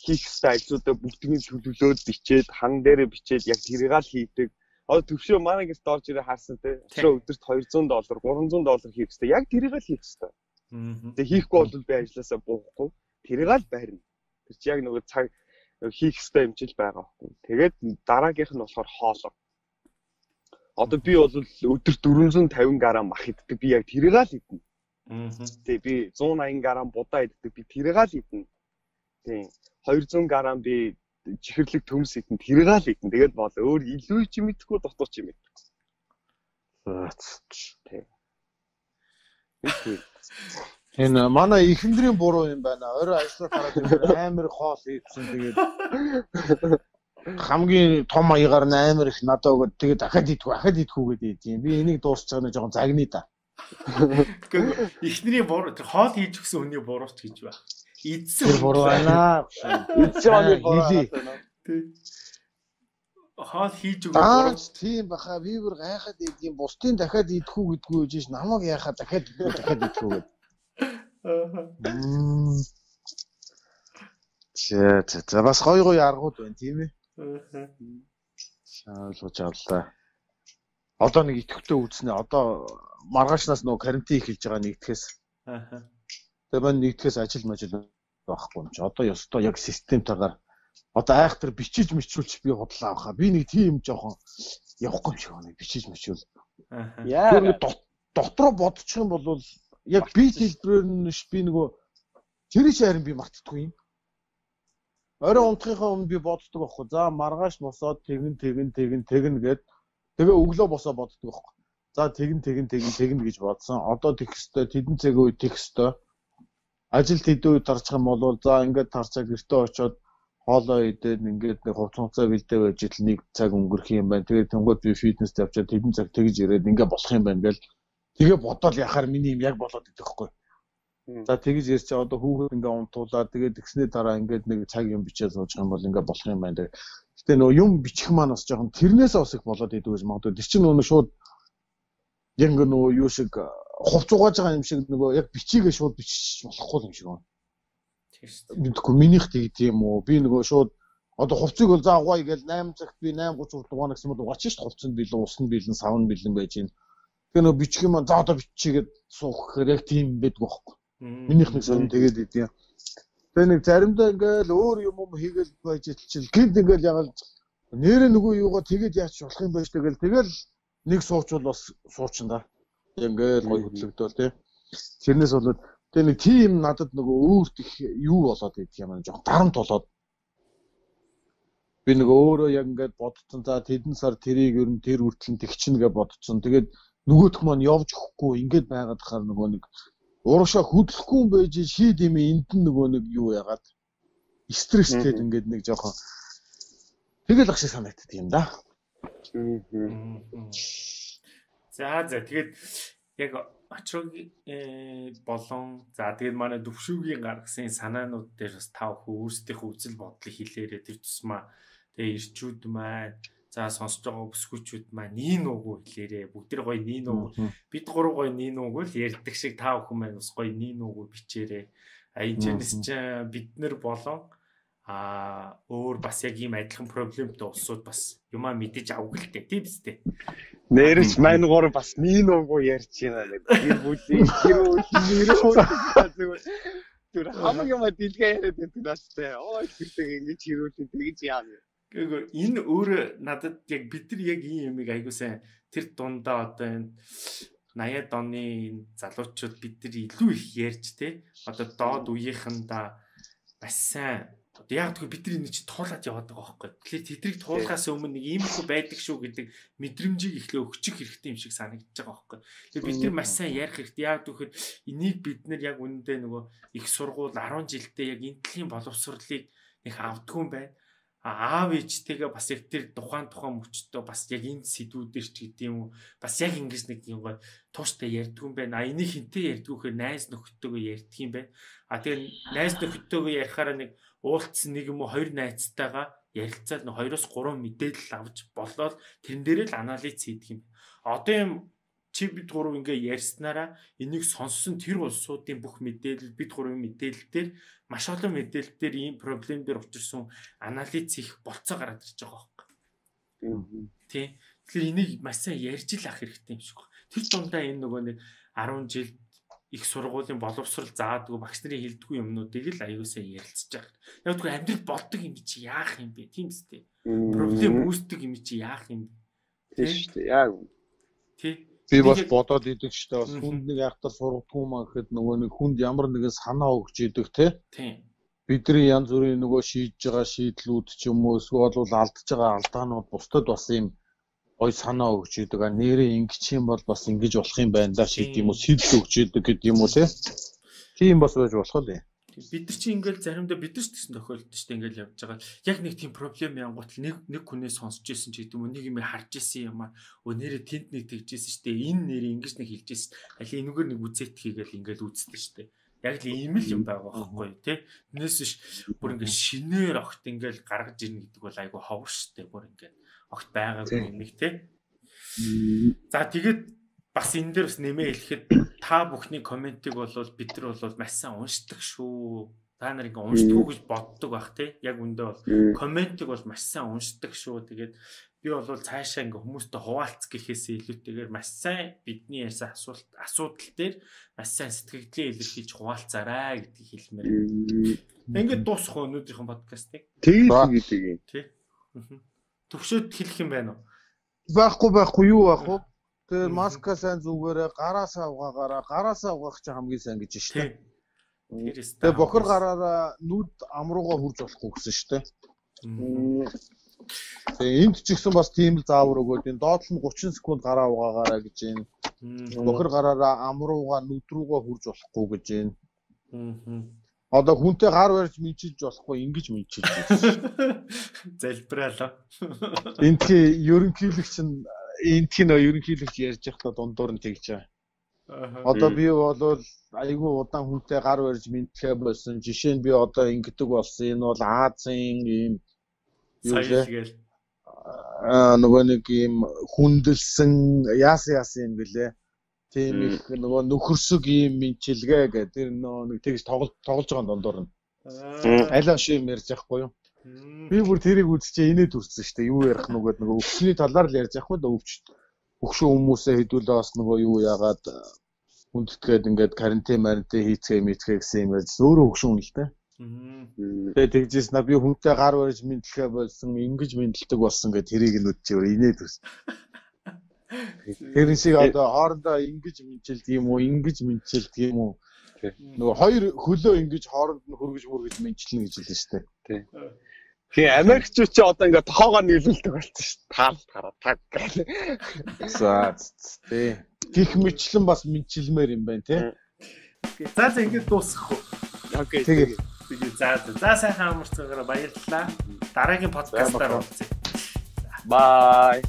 хийх ёстой ажлуудаа бүгднийг төлөвлөөд бичээд хан дээрээ бичээд яг тэрийг л хийдэг. Одоо төвшөө манай гэрт орж ирээ харсан те. Төвшөө өдөрт $200, $300 хийх ёстой. Яг тэрийг л хийх ёстой. Тэгээ хийхгүй бол би ажилласаа буухгүй. Тэрийг л байрна. Тэр чи яг нөгөө цаг хийх ёстой юм чил байгаа байхгүй. Тэгээд дараагийнх нь болохоор хоолоо. Одоо би бол өдөрт 450 г мах иддэг. Би яг тэрийг л идэнэ. Тэгээ би 180 г будаа иддэг. Би тэрийг л идэнэ. Тийм. 200 г би чихэрлэг төмс идэнэ. Тэрийг л идэнэ. Тэгээд бол өөр илүү ч мэдхгүй дотор ч юм мэдхгүй. Тийм.
Энэ манай ихэндрийн буруу юм байна. Орой ажиллаж хараад амар хоол ийдсэн. Тэгээд хамгийн том аягаар амар их надад өгöd тэгээд дахиад идэх үгээд ийм. Би энийг дуусчих нэг жоохон загны да.
Ихнэрийн буруу хоол хийж өгсөн хүний бурууч гэж байна. Эдсэн
бурана.
Эцсийн бурана.
Хоол хийж өгөх.
Тийм баха вивер гайхаад ийм бусдын дахиад идэхүү гэдгүү гэж намайг яхаа дахиад идэхүү гэд. За бас гоё аргууд байна тийм ээ. Ойлгож авлаа. Одоо нэг идэвхтэй үүснэ. Одоо маргаашнаас нөгөө карантин эхэлж байгаа нэгдэхээс. Тэгээ маань нэгдэхээс ажил байхгүй юм чи. Одоо ёстой яг системтайгаар одоо айхтар бичиж мичүүлж би худлаа авахаа. Би нэг тийм жоохон явахгүй юм шиг байна. Бичиж мичүүл. Яа. Дотроо бодчих юм бол яг би хэлбэрээр нь би нөгөө тэр шаарин би мартдаггүй юм. Орой унтахынхаа өмнө би боддог байхгүй. За маргааш босоод тэгнэ гэд тэгээ өглөө босоо боддог байхгүй. За тэгнэ гэж бодсон. Одоо тэгэх ёстой, тэдэн цаг үе тэгэх ёстой. Ажил тэдэн үе тарчих юм бол за ингээд тарчаа гэртээ очиод хоолоо идээд ингээд нэг хувцас бэлдээ байж ил нэг цаг өнгөрөх юм байна. Тэгээд тэнгууд би фитнест явчаад тэдэн цаг тэгж ирээд ингээд болох юм байна гэл. Тэгээ бодоод яхаар миний юм яг болоод идэх байхгүй. За тэгж ярьж одоо хүүхэд ингээд унтуулаад тэгээд тэгснээ дараа ингээд нэг цаг юм бичээд суучих юм бол ингээд болох юм байна. Гэтэ нөө юм бичих маань бас жоохон тэрнээс бас их болоод идэв гэж магадгүй. Тэр чинь нөгөө шууд яг нөгөө юу шиг хувц угааж байгаа юм шиг нөгөө яг бичигээ шууд бичих болохгүй юм шиг байна. Мэдгүй минийх тийм үү. Би нөгөө шууд одоо хувцыг бол за угаая гэж 8 цагт би 8:30 дугаар гэсэн бол угаачих шүү дээ. Хувцанд бэлэн, усанд бэлэн, савнд бэлэн байж гин. Тэгээ нөгөө бичих юм за одоо бичигээд суух гэхээр яг тийм байдг байхгүй. Минийх нэг сонь тэгээд идэв. Тэгээ нэг заримдаа ингээл өөр юм хийгээл байж ичил гинт ингээл ягаал нэрээ нөгөө юугаа тэгээд яач болох юм байж тэгэл нэг суучвал бас суучин да. Ингээл гой хөдлөгдөөл тий. Тэрнээс болоод тэгээ нэг тийм надад нөгөө өөр их юу болоод идэх юм аа жоох дарамт болоод би нөгөө өөрөө яг ингээд бодсон за тэдэн сар тэрийг ер нь тэр үртлэн тэгчин гэж бодсон. Тэгээд нөгөөх маань явж өгөхгүй ингээд байгаад хахаар нөгөө нэг урагшаа хөдлөхгүй юм байж шийд юм энд нөгөө нэг юу яагаад стресстэй ингээд нэг жоохон тэгэл ах шиг санагддаг юм да.
За тэгээд яг очрог болон за тэгээд манай Төвшөөгийн гаргасан санаанууд дээр бас тав өөрсдийнхөө үзэл бодлыг хэлээрээ тэр тусмаа тэгээд ирчүүд маань за сонсож байгаа бүсгүүчүүд маань нин уугүй хэлээрээ бүгд тэр гоё нин уугүй бид гурав гоё нин уугүй л ярьдаг шиг тав хүн маань бас гоё нин уугүй бичээрээ энэ ч бид нар болон өөр бас яг ийм адилхан проблемтэй улсууд бас юмаа мэдэж авах л дээ тийм биз дээ.
Нэрч маань гур бас нин уугүй ярьж байна гэдэг. Тэр бүлийн тэр хамгийн маа дэлгээ яриад байдаг наастай. Ой тэрдэг ингэж хэрүүлээ тэгж яана.
Гэхдээ энэ өөр надад яг бид нар яг ийм юмыг айгуу сайн тэр дундаа одоо энэ 80-аад оны залуучууд бид нар илүү их ярьж те одоо доод үеийнхэндээ бас сайн яг тэгэхээр бид нар энэ чинь туулаад яваад байгаа байхгүй. Тэгэхээр тэдрийг туулахаас өмнө нэг иймэрхүү байдаг шүү гэдэг мэдрэмжийг эхлээ өгчих хэрэгтэй юм шиг санагдаж байгаа байхгүй. Тэгэхээр бид нар маш сайн ярих хэрэгтэй. Яг тэгэхээр энийг бид нар яг үнэндээ нөгөө их сургууль 10 жилдээ яг энэ төрлийн боловсролыг их авдгүй юм байна. Аав ээжтэйгээ бас яг тэр тухайн мөчтөө бас яг энэ сэдвүүдэр ч гэдэг юм уу бас яг ингэж нэг юм гой тууштай ярьдгүй юм байна. Энийг хинтээ ярьдгүйхээр найз нөхдөдөө ярьдаг юм байна. Тэгээ найз нөхдөдөө ярихаараа нэг уулцсан нэг юм уу хоёр найзтайгаа ярилцаад 2-3 мэдээлэл авч болоод тэрэн дээрээ л анализ хийдэг юм. Одоо юм чи бид гурав ингээ ярьснараа энийг сонссон тэр улсуудын бүх мэдээлэл бид гурвын мэдээлэл дээр маш олон мэдээлэл дээр ийм проблем дээр учирсан анализ хийх болцоо гараад ирж байгаа байхгүй. Тий. Тэгэхээр энийг маш сайн ярьж л ах хэрэгтэй юм шиг байна. Тэр дундаа энэ нөгөө нэг 10 жил их сургуулийн боловсрал заадгүй багш нарын хэлдэггүй юмнуудыг л аюулсаа ярилцж байгаа. Яг тэгвэл амьдрал болдог юм чи яах юм бэ? Тийм үстэй. Проблем үүсдэг юм чи яах юм бэ?
Тийм шүү дээ. Яг.
Тий.
Би бас бодоод идэг ч бас хүнд нэг айхтар сургадгүй маа гэхэд нөгөө нэг хүнд ямар нэгэн санаа өгч идэг тий. Бидний янз бүрийн нөгөө шийдэж байгаа шийдлүүд ч юм уу эсвэл бол алдж байгаа алдаанууд бусдад бас юм гой санаа өгч идэг. Нэрээ ингэж юм бол бас ингэж болох юм байна да шиг юм уу сэтэл өгч идэг гэдэг юм уу тий. Тийм бас байж болох л.
Бид нар чи ингээл заримдаа бид нар ч гэсэн тохиолдсон шүү дээ ингээл явж байгаа. Яг нэг тийм проблем янгуутл нэг хүнээс сонсч ирсэн ч гэдэг юм нэг юм харж ирсэн юм аа. Нэрээ тэнд нэг тэгж ирсэн шүү дээ. Энэ нэрээ ингэж нэг хэлж ирсэн. Али энэгээр нэг үзэт хийгээл ингээл үзсэн шүү дээ. Яг л ийм л юм байгаа байхгүй тий. Энэс биш бүр ингээд шинээр огт ингээд гаргаж ирнэ гэдэг бол айгүй ховор штэ бүр ингээд огт байгаагүй нэг тий. За тэгээд бас энэ дээр бас нэмээ хэлэхэд та бүхний комментиг бол бид нар бол маш сайн уншдаг шүү. Та нар ингээ уншдаг гэж боддог бах тий. Яг үндэ бол комментиг бол маш сайн уншдаг шүү. Тэгээд би бол цаашаа ингээ хүмүүстэй хуваалц гэхээсээ илүүтэйгээр маш сайн бидний ярьсан асуудал дээр маш сайн сэтгэлдээ илэрхийлж хуваалцаарай гэдгийг хэлмээр. Ингээд дуусах өнөөдрийнхэн подкастыг.
Тэгээд
тий. Төвшөөд хэлэх юм байна уу?
Байхгүй юу байх вэ? Тэгээд маска сайн зүгээрээ гараасаа угаах чинь хамгийн сайн гэж штэ. Тэгээд бохор гараараа нүд амруугаа хурж болохгүй гэсэн штэ. Тэгээд энд ч ихсэн бас тийм л заавар өгөөд энэ доод нь 30 секунд гараа угаагаараа гэж байна. Бохор гараараа амруугаа нүд рүүгээ хурж болохгүй гэж байна. Одоо хүнтэй гар барьж мэдчилж болохгүй ингэж мэдчилж байна.
Залбираалаа.
Энтхий ерөнхийлөгч нь ерөнхийлөгч ярьж байхдаа дундуур нь тэгж байгаа. Одоо би бол айгүй удаан хүнтэй гар барьж мэдхээ болсон. Жишээ нь би одоо ингэдэг болсон. Энэ бол Азийн ийм юу вэ? Нөгөө нэг ийм хүндэлсэн яасан юм бэлээ. Тийм их нөгөө нөхөрсөг ийм мэдчилгээ гэдэг. Тэр нэг тэгж тоглож байгаа дундуур нь. Алаа шиг ярьж байхгүй юу? Би бүр тэрийг үзчихээ инээд үрцсэн шүү дээ. Юу ярих нүгэд нөгөө өвчний талаар л ярьж байхгүй да өвчшөө хүмүүсээ хэдүүлээ бас нөгөө юу яагаад хүндэтгээд ингээд карантин хийцгээ гэсэн юм ярьж өөрөө хөгшүүн л дээ. Тэгээд тэгжээс на би хүнтэй гар барьж мэдлэхэ болсон ингэж мэдлдэг болсон гэдэг тэрийг нь үдчихээр инээд үрс. Тэр шиг одоо хоорондоо ингэж мэдчилдэг юм уу нөгөө хоёр хөлөө ингэж хооронд нь хөргөж мэдчилнэ гэж хэлсэн шүү дээ.
Тий. Тэгээ Америкчууд ч одоо ингээд тоогоо нийлүүлдэг болсон шүү дээ. Таг гэл.
За тий. Гих мэтлэн бас мэдчилмээр юм байна тий.
За ингэж дуусгах уу?
Окей.
Тэгээ.
За сайхан амарцгаараа баярлалаа. Дараагийн подкастаар уулзъя.
Bye.